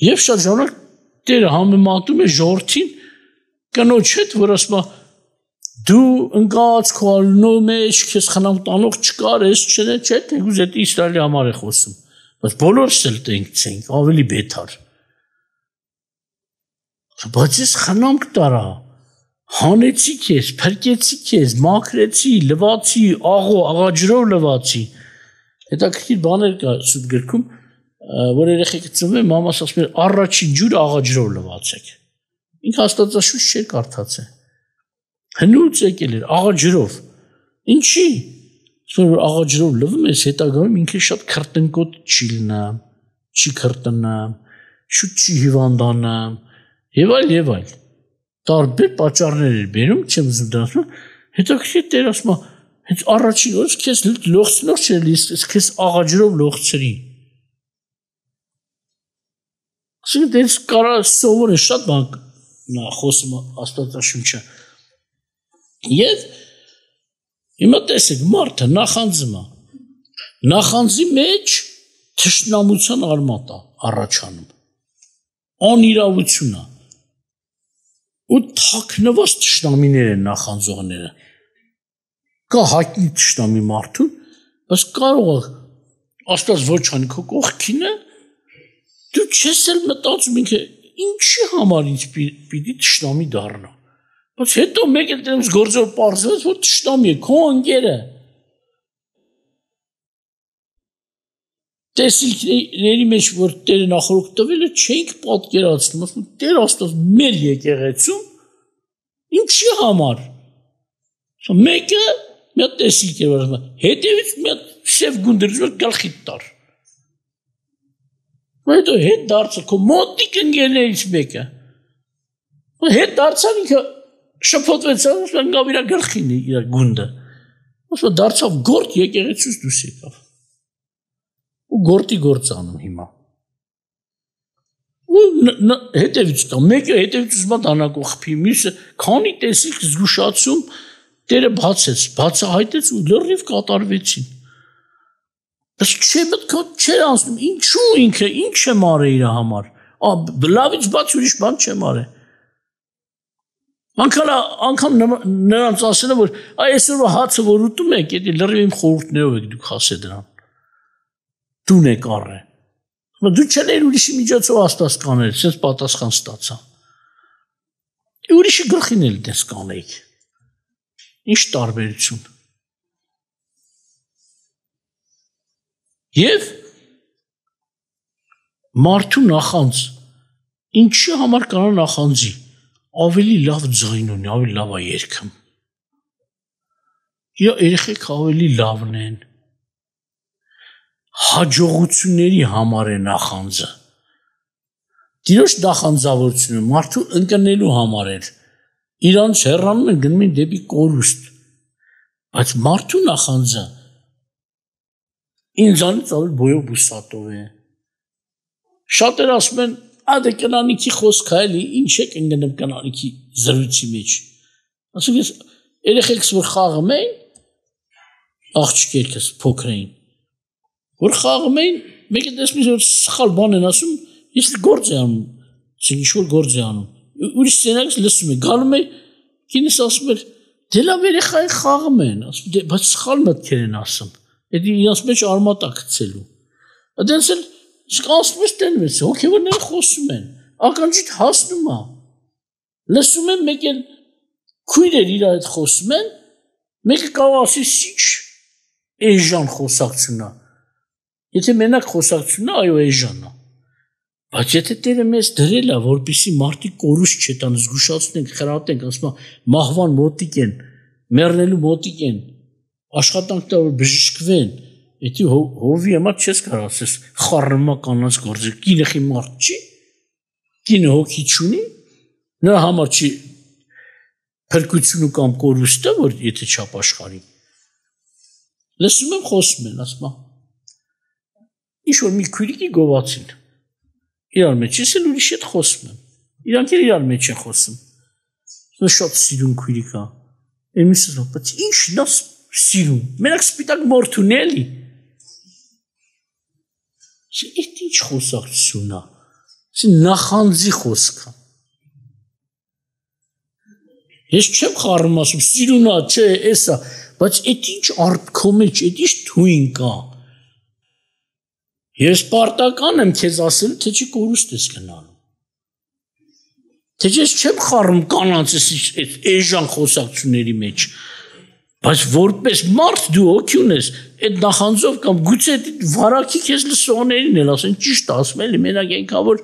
Եվ շատ ժամանակ Տերը համեմատում է ժողովրդին կնոջ հետ, որ ասում է դու ընկած քո ալնո մեջ քեզ խնամ տանող չկար, ես չէ, թեկուզ այդ Իսրայելի համար է խոսում, բայց բոլորս էլ տենքցենք, ավելի բեթար։ Բայց ես խնամք տարա, հանեցի քեզ, փրկեցի քեզ, մաքրեցի, լվացի, աղաջրով լվացի։ Հետաքրքիր բաներ կա սուրբ գրքում, որ երեխեքը ծնվում են, մամաս ասում է առաջին ջուրը աղաջրով լվացեք։ Ինքը Աստվածաշունչ չէր կարդացել։ Հնուց եկել էր աղաջրով։ Ինչի՞։ Որ աղաջրով լվում ես, հետագայում ինքը շատ քրտնկոտ չի լինա, չի քրտնա, շուտ չի հիվանդանա, եւ այլ։ Տարբեր պատճառներ էր բերում, չեմ ուզում դասում, հետաքրքիր Տեր ասում է, հենց առաջին օրս քեզ լողցնող չէր լիս, քեզ աղաջրով լողցրի։ Ասենք դες կարա սովորեն շատ բան խոսում Աստվածաշունչը։ Եվ հիմա տեսեք մարդը նախանձում է։ Նախանձի մեջ թշնամության արմատ է առաջանում։ Անիրավություն է։ Ու թաքնված թշնամիներ են նախանձողները։ Կա հայտնի թշնամի մարդուն, բայց կարող է Աստված ոչ անի քո կողքին է, դու չես էլ մտածում ինքը ինչի համար ինձ պիտի թշնամի դառնա։ Բայց հետո մեկ էլ դրանց գործով պարզվեց, որ թշնամի է, քո ընկերը։ Տեսիլքների մեջ, որ Տերը նախորդ տվել է, չենք պատկերացնում, ասում Տեր Աստված մեր եկեղեցում ինչի համար։ Մեկը մի հատ տեսիլք էր, որ հետևից մի հատ սև գունդրից որ գլխիդ տար։ Հետո հետ դարձա քո մոտիկ ընկերներից մեկը։ Հետ դարձան ինքը շփոթվեց, ասում գավ իր գլխին իր գունդը։ Ասում դարձավ գործ եկեղեցուց դուրս եկավ։ Ու գործի գործ անում հիմա։ Ու հետևից կա, մեկը հետևից ուզում դանակով խփի, մյուսը քանի տեսիք զգուշացում Տերը բացեց, բացահայտեց ու լրիվ կատարվեցին։ Բայց չէ մտքոտ չէր անցնում, ինչու ինքը, ինչ եմ արել իր համար։ Լավից բաց ուրիշ բան չեմ արել։ Անկամ նրանց ասել որ այսօրվա հացը որ ուտում եք, դա լրիվ իմ խորհուրդներով եք դուք ասել դրան։ Դուն եք առե։ Դու չես ուրիշի միջոցով աստված կանել, sense պատասխան ստացա։ Ուրիշի գլխին էլ դες կանեիք։ Ինչ տարբերություն։ Եվ մարդու նախանձ ինչի համար կարա նախանձի ավելի լավ ձայն ունի, ավելի լավ է երգում։ Երեխեք ավելի լավն են։ Հաջողությունների համար է նախանձը։ Տիրոջ նախանձավորությունը մարդու ընկնելու համար է։ Իրանց հեռանում են գնում են դեպի կորուստ։ Բայց մարդու նախանձը ինձանից ավելի բոյով բուսատով է։ Շատերը ասում են Ադե կնանիքի խոսք է էլի, ինչ եք ընկնում կնանիքի զրույցի մեջ։ Ասում ես երեխեքս որ խաղում էին, աղջիկերքս փոքր էին, որ խաղում էին, մեկը տեսնում որ սխալ բան են ասում, ես գործ եմ անում, ինչ-որ գործ եմ անում։ Ուրիշ սենյակից լսում եմ, գալում է, կինս ասում է, դե լավ երեխային խաղում են, ասում բայց սխալ մտքեր են ասում։ Դա իրաց մեջ արմատա գցելու։ Այդպես էլ Ասում տենում ես, հոգևորները խոսում են, ականջիդ հասնում է, լսում են մեկ էլ քույրեր իր հետ խոսում են, մեկը կարող ասի սիչ էժան խոսակցությունն է, եթե մենակ խոսակցությունն է, այո էժանն է, բայց եթե Տերը մեզ դրել է, որպեսզի մարդիկ կորուս չտան, զգուշացնենք, խրատենք, ասում է մահվան մոտիկ են, մեռնելու մոտիկ են, աշխատանք տա որ բժշկվեն, Եթե հովի համար չես կարող ասես խառնումա կանանց գործը, կինը խիմարդ չի, կինը հոգի չունի, նրա համար չի փրկությունը կամ կորուստը, որ եթե չապաշխարի։ Լսում եմ խոսում են, ասում է, ինչ որ մի քույրիկի գովացին, իրար մեջ ես էլ ուրիշ հետ խոսում եմ, իրանք էլ իրար մեջ են խոսում, շատ սիրուն քույրիկ է, εμείς բայց ինչն է սիրուն, մենակ սպիտակ մորթ ունի էլի։ Այդ ինչ խոսակցություն է, նախանձի խոսք է։ Ես չեմ խառնում ասում, սիրուն է, չէ, էսա, բայց այդ ինչ արտքո մեջ, այդ ինչ թույն կա։ Ես պարտական եմ քեզ ասել, թե չի կորուստ ես գնալու։ Թե ես չեմ խառնում կանանց այդ էժան խոսակցությունների մեջ։ Բայց որպես մարդ դու հոգի ունես, այդ նախանձով կամ գուցե վարակի քեզ լսողներին էլ ասեն, ճիշտ ասում էլի, մենակ այնքան որ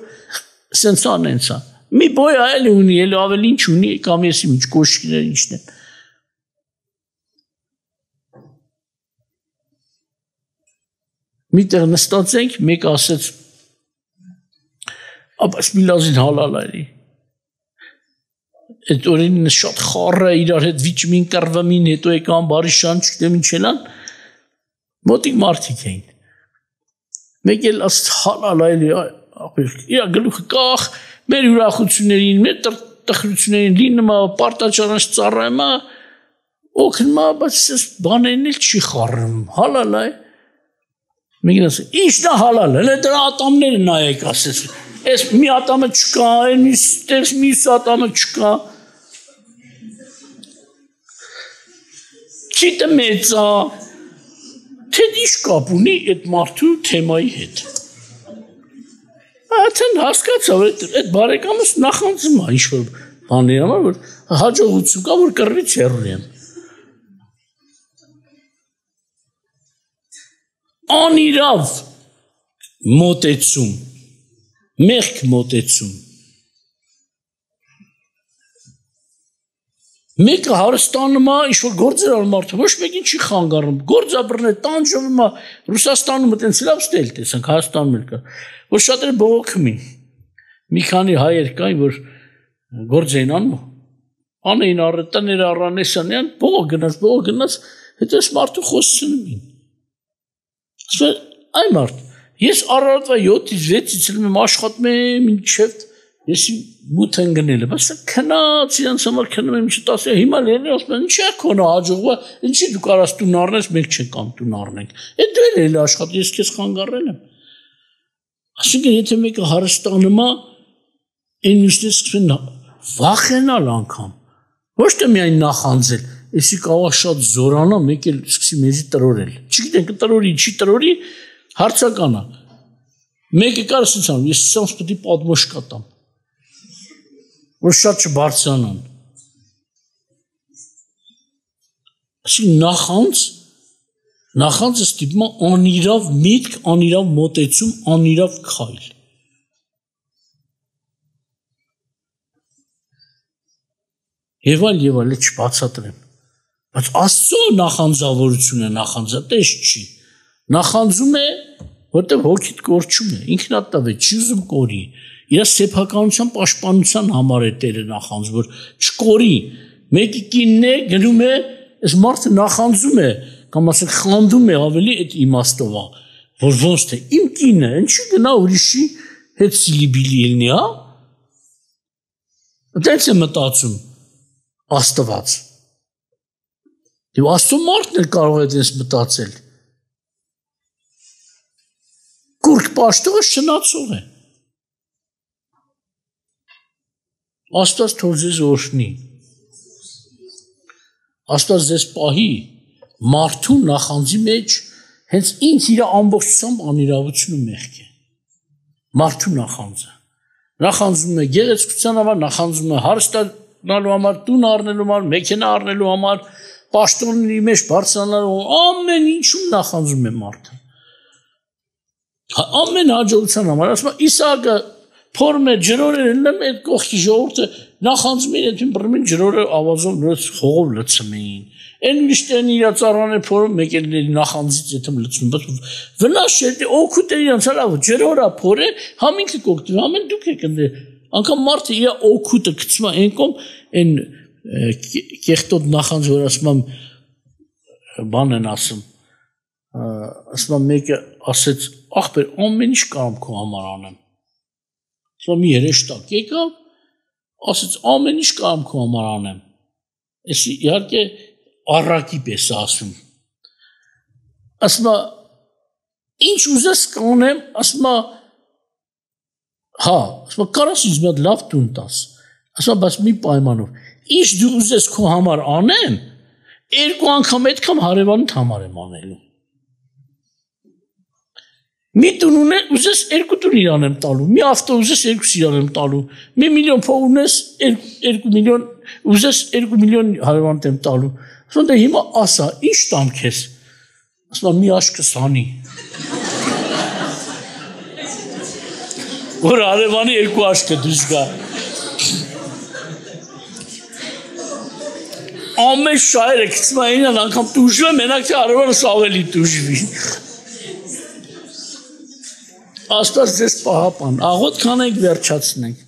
սենց անենց է։ Մի բոյ այլ ունի, էլ ավելի ինչ ունի, կամ ես ինչ կոշկիներ ինչն են։ Միտեղ նստած ենք, մեկ ասեց, ապաս մի լազին հալալ էլի։ Այդ օրինը շատ խառը իրար հետ վիճմին կրվամին հետո եկան բարի շան չգիտեմ ինչ էլան մոտիկ մարդիկ էին մեկ էլ ասց հալալ այլի իր գլուխը կախ մեր ուրախություններին մեր տխրություններին լինում է պարտաճանաչ ծառայում է օգնում է բայց ես բաներն էլ չի խառնում հալալ է մեկն ասեց ի՞նչն է հալալ հələ դրա ատամները նայեք ասեց այս մի ատամը չկա այն մյուս ատամը չկա Չիտը մեծ է, թե ինչ կապ ունի այդ մարդու թեմայի հետ։ Աթեն հասկացա, որ այդ բարեկամս նախանձում է ինչ-որ բաների համար, որ հաջողություն կա, որ կռվից հեռու եմ։ Անիրավ մոտեցում, մեղք մոտեցում։ Մեկը Հարստանում է, ինչ-որ գործեր անում մարդը, ոչ մեկին չի խանգարում, գործաբռն է, տանջվում է, Ռուսաստանում տենց լավ ստել տեսանք, Հայաստանում էլ կա, որ շատերը բողոքում են, մի քանի հայեր կային, որ գործ էին անում, անեին առետաները առանեսանյան, բողոք գնաց, հետո ես մարդու խոսցնում են, ասում այ մարդ, ես առավոտվա 7-ից 6-ից եմ աշխատում եմ, ինչև ես մութ ընկնել եմ, բայց քնած իրանց համար քնում եմ ինչ տասը, հիմա լերն ասում են, ինչ է քոնը հաջողվա, ինչի դու կարաս տուն առնես, մենք չենք կամ տուն առնենք, այդ դու էլ աշխատի, ես քեզ խանգարել եմ, ասինքն եթե մեկը հարստանում է, այն մյուսները սկսում են վախենալ անգամ, Ոչ թե միայն նախանձել, էսի կարող շատ զորանա, մեկ էլ սկսի մեզի տրորել։ Չգիտենք տրորի, չի տրորի, հարցական է։ Մեկը կար ասած ամ, ես սրանց պետք է պատմոշկա տամ։ Որ շատ չբարձրանան։ Ասի նախանձը ստիպում է անիրավ միտք, անիրավ մոտեցում, անիրավ քայլ։ Եվ այլ չբացատրեմ։ Բայց Աստծո նախանձավորությունը նախանձատես չի։ Նախանձում է, որտեղ հոգիդ կորչում է, ինքնատավ է, չի ուզում կորի։ Իր սեփականության պաշտպանության համար է Տերը նախանձ, որ չկորի։ Մեկի կինն է գնում է, այս մարդը նախանձում է, կամ ասենք խանդում է ավելի այդ իմաստով, որ ոնց թե իմ կինը, ինչի գնա ուրիշի հետ սիլիբիլի ելնի, հա։ Այդպես է մտածում Աստված։ Եվ Աստծո մարդն էլ կարող է այդպես մտածել։ Կուրք պաշտողը շնացող է։ Աստված թող ձեզ օրհնի։ Աստված ձեզ պահի մարդու նախանձի մեջ հենց ինձ իր ամբողջությամբ անիրավությունը մեղք է։ Մարդու նախանձը։ Նախանձում է գեղեցկության համար, նախանձում է հարստանալու համար, տուն առնելու համար, մեքենա առնելու համար, պաշտոնների մեջ բարձրանալու, ամեն ինչում նախանձում է մարդը։ Ամեն հաջողության համար, ասում է Իսահակը փորում է ջրորեր ընեմ այդ կողքի ժողովուրդը նախանձում էին այդ բռնին ջրորը ավազով խողով լցմին։ Այն միշտեն իր ծառաները փորում մեկ էլ նախանձից եթե լցում, բայց վնաս չէ, օգուտ է իրանց հալավ ջրորա փորե, համինքը կօգտվի, ամեն դուք եք ընդ անգամ մարդը իր օգուտը գցում է այն կողմ այն կեղտոտ նախանձ որ ասում բան են ասում մեկը ասեց ախպեր ամեն ինչ կարամ քո համար անեմ ասում մի երեշտակ եկավ ասեց ամեն ինչ կարամ քո համար անեմ ես իհարկե առակի պես ասում ասում ինչ ուզես կանեմ ասում հա ասում կարաս ինձ մի հատ լավ տուն տաս ասում բայց մի պայմանով ինչ դու ուզես քո համար անեմ երկու անգամ այդքան հարևանիդ համար եմ անելու մի տուն ուզես երկու տուն իրան եմ տալու մի ավտո ուզես երկուս իրան եմ տալու մի միլիոն փող ունես 2 միլիոն ուզես 2 միլիոն հարևանիդ եմ տալու ասում դե հիմա ասա ինչ տամ քեզ ասում մի աշկս հանի որ հարևանի երկու աշկը դուրս գա ամեն շայրը գցում է ինան անգամ տուժում է մենակ թե հարևանս ավելի տուժվի Աստված ձեզ պահապան աղոտ կանենք վերջացնենք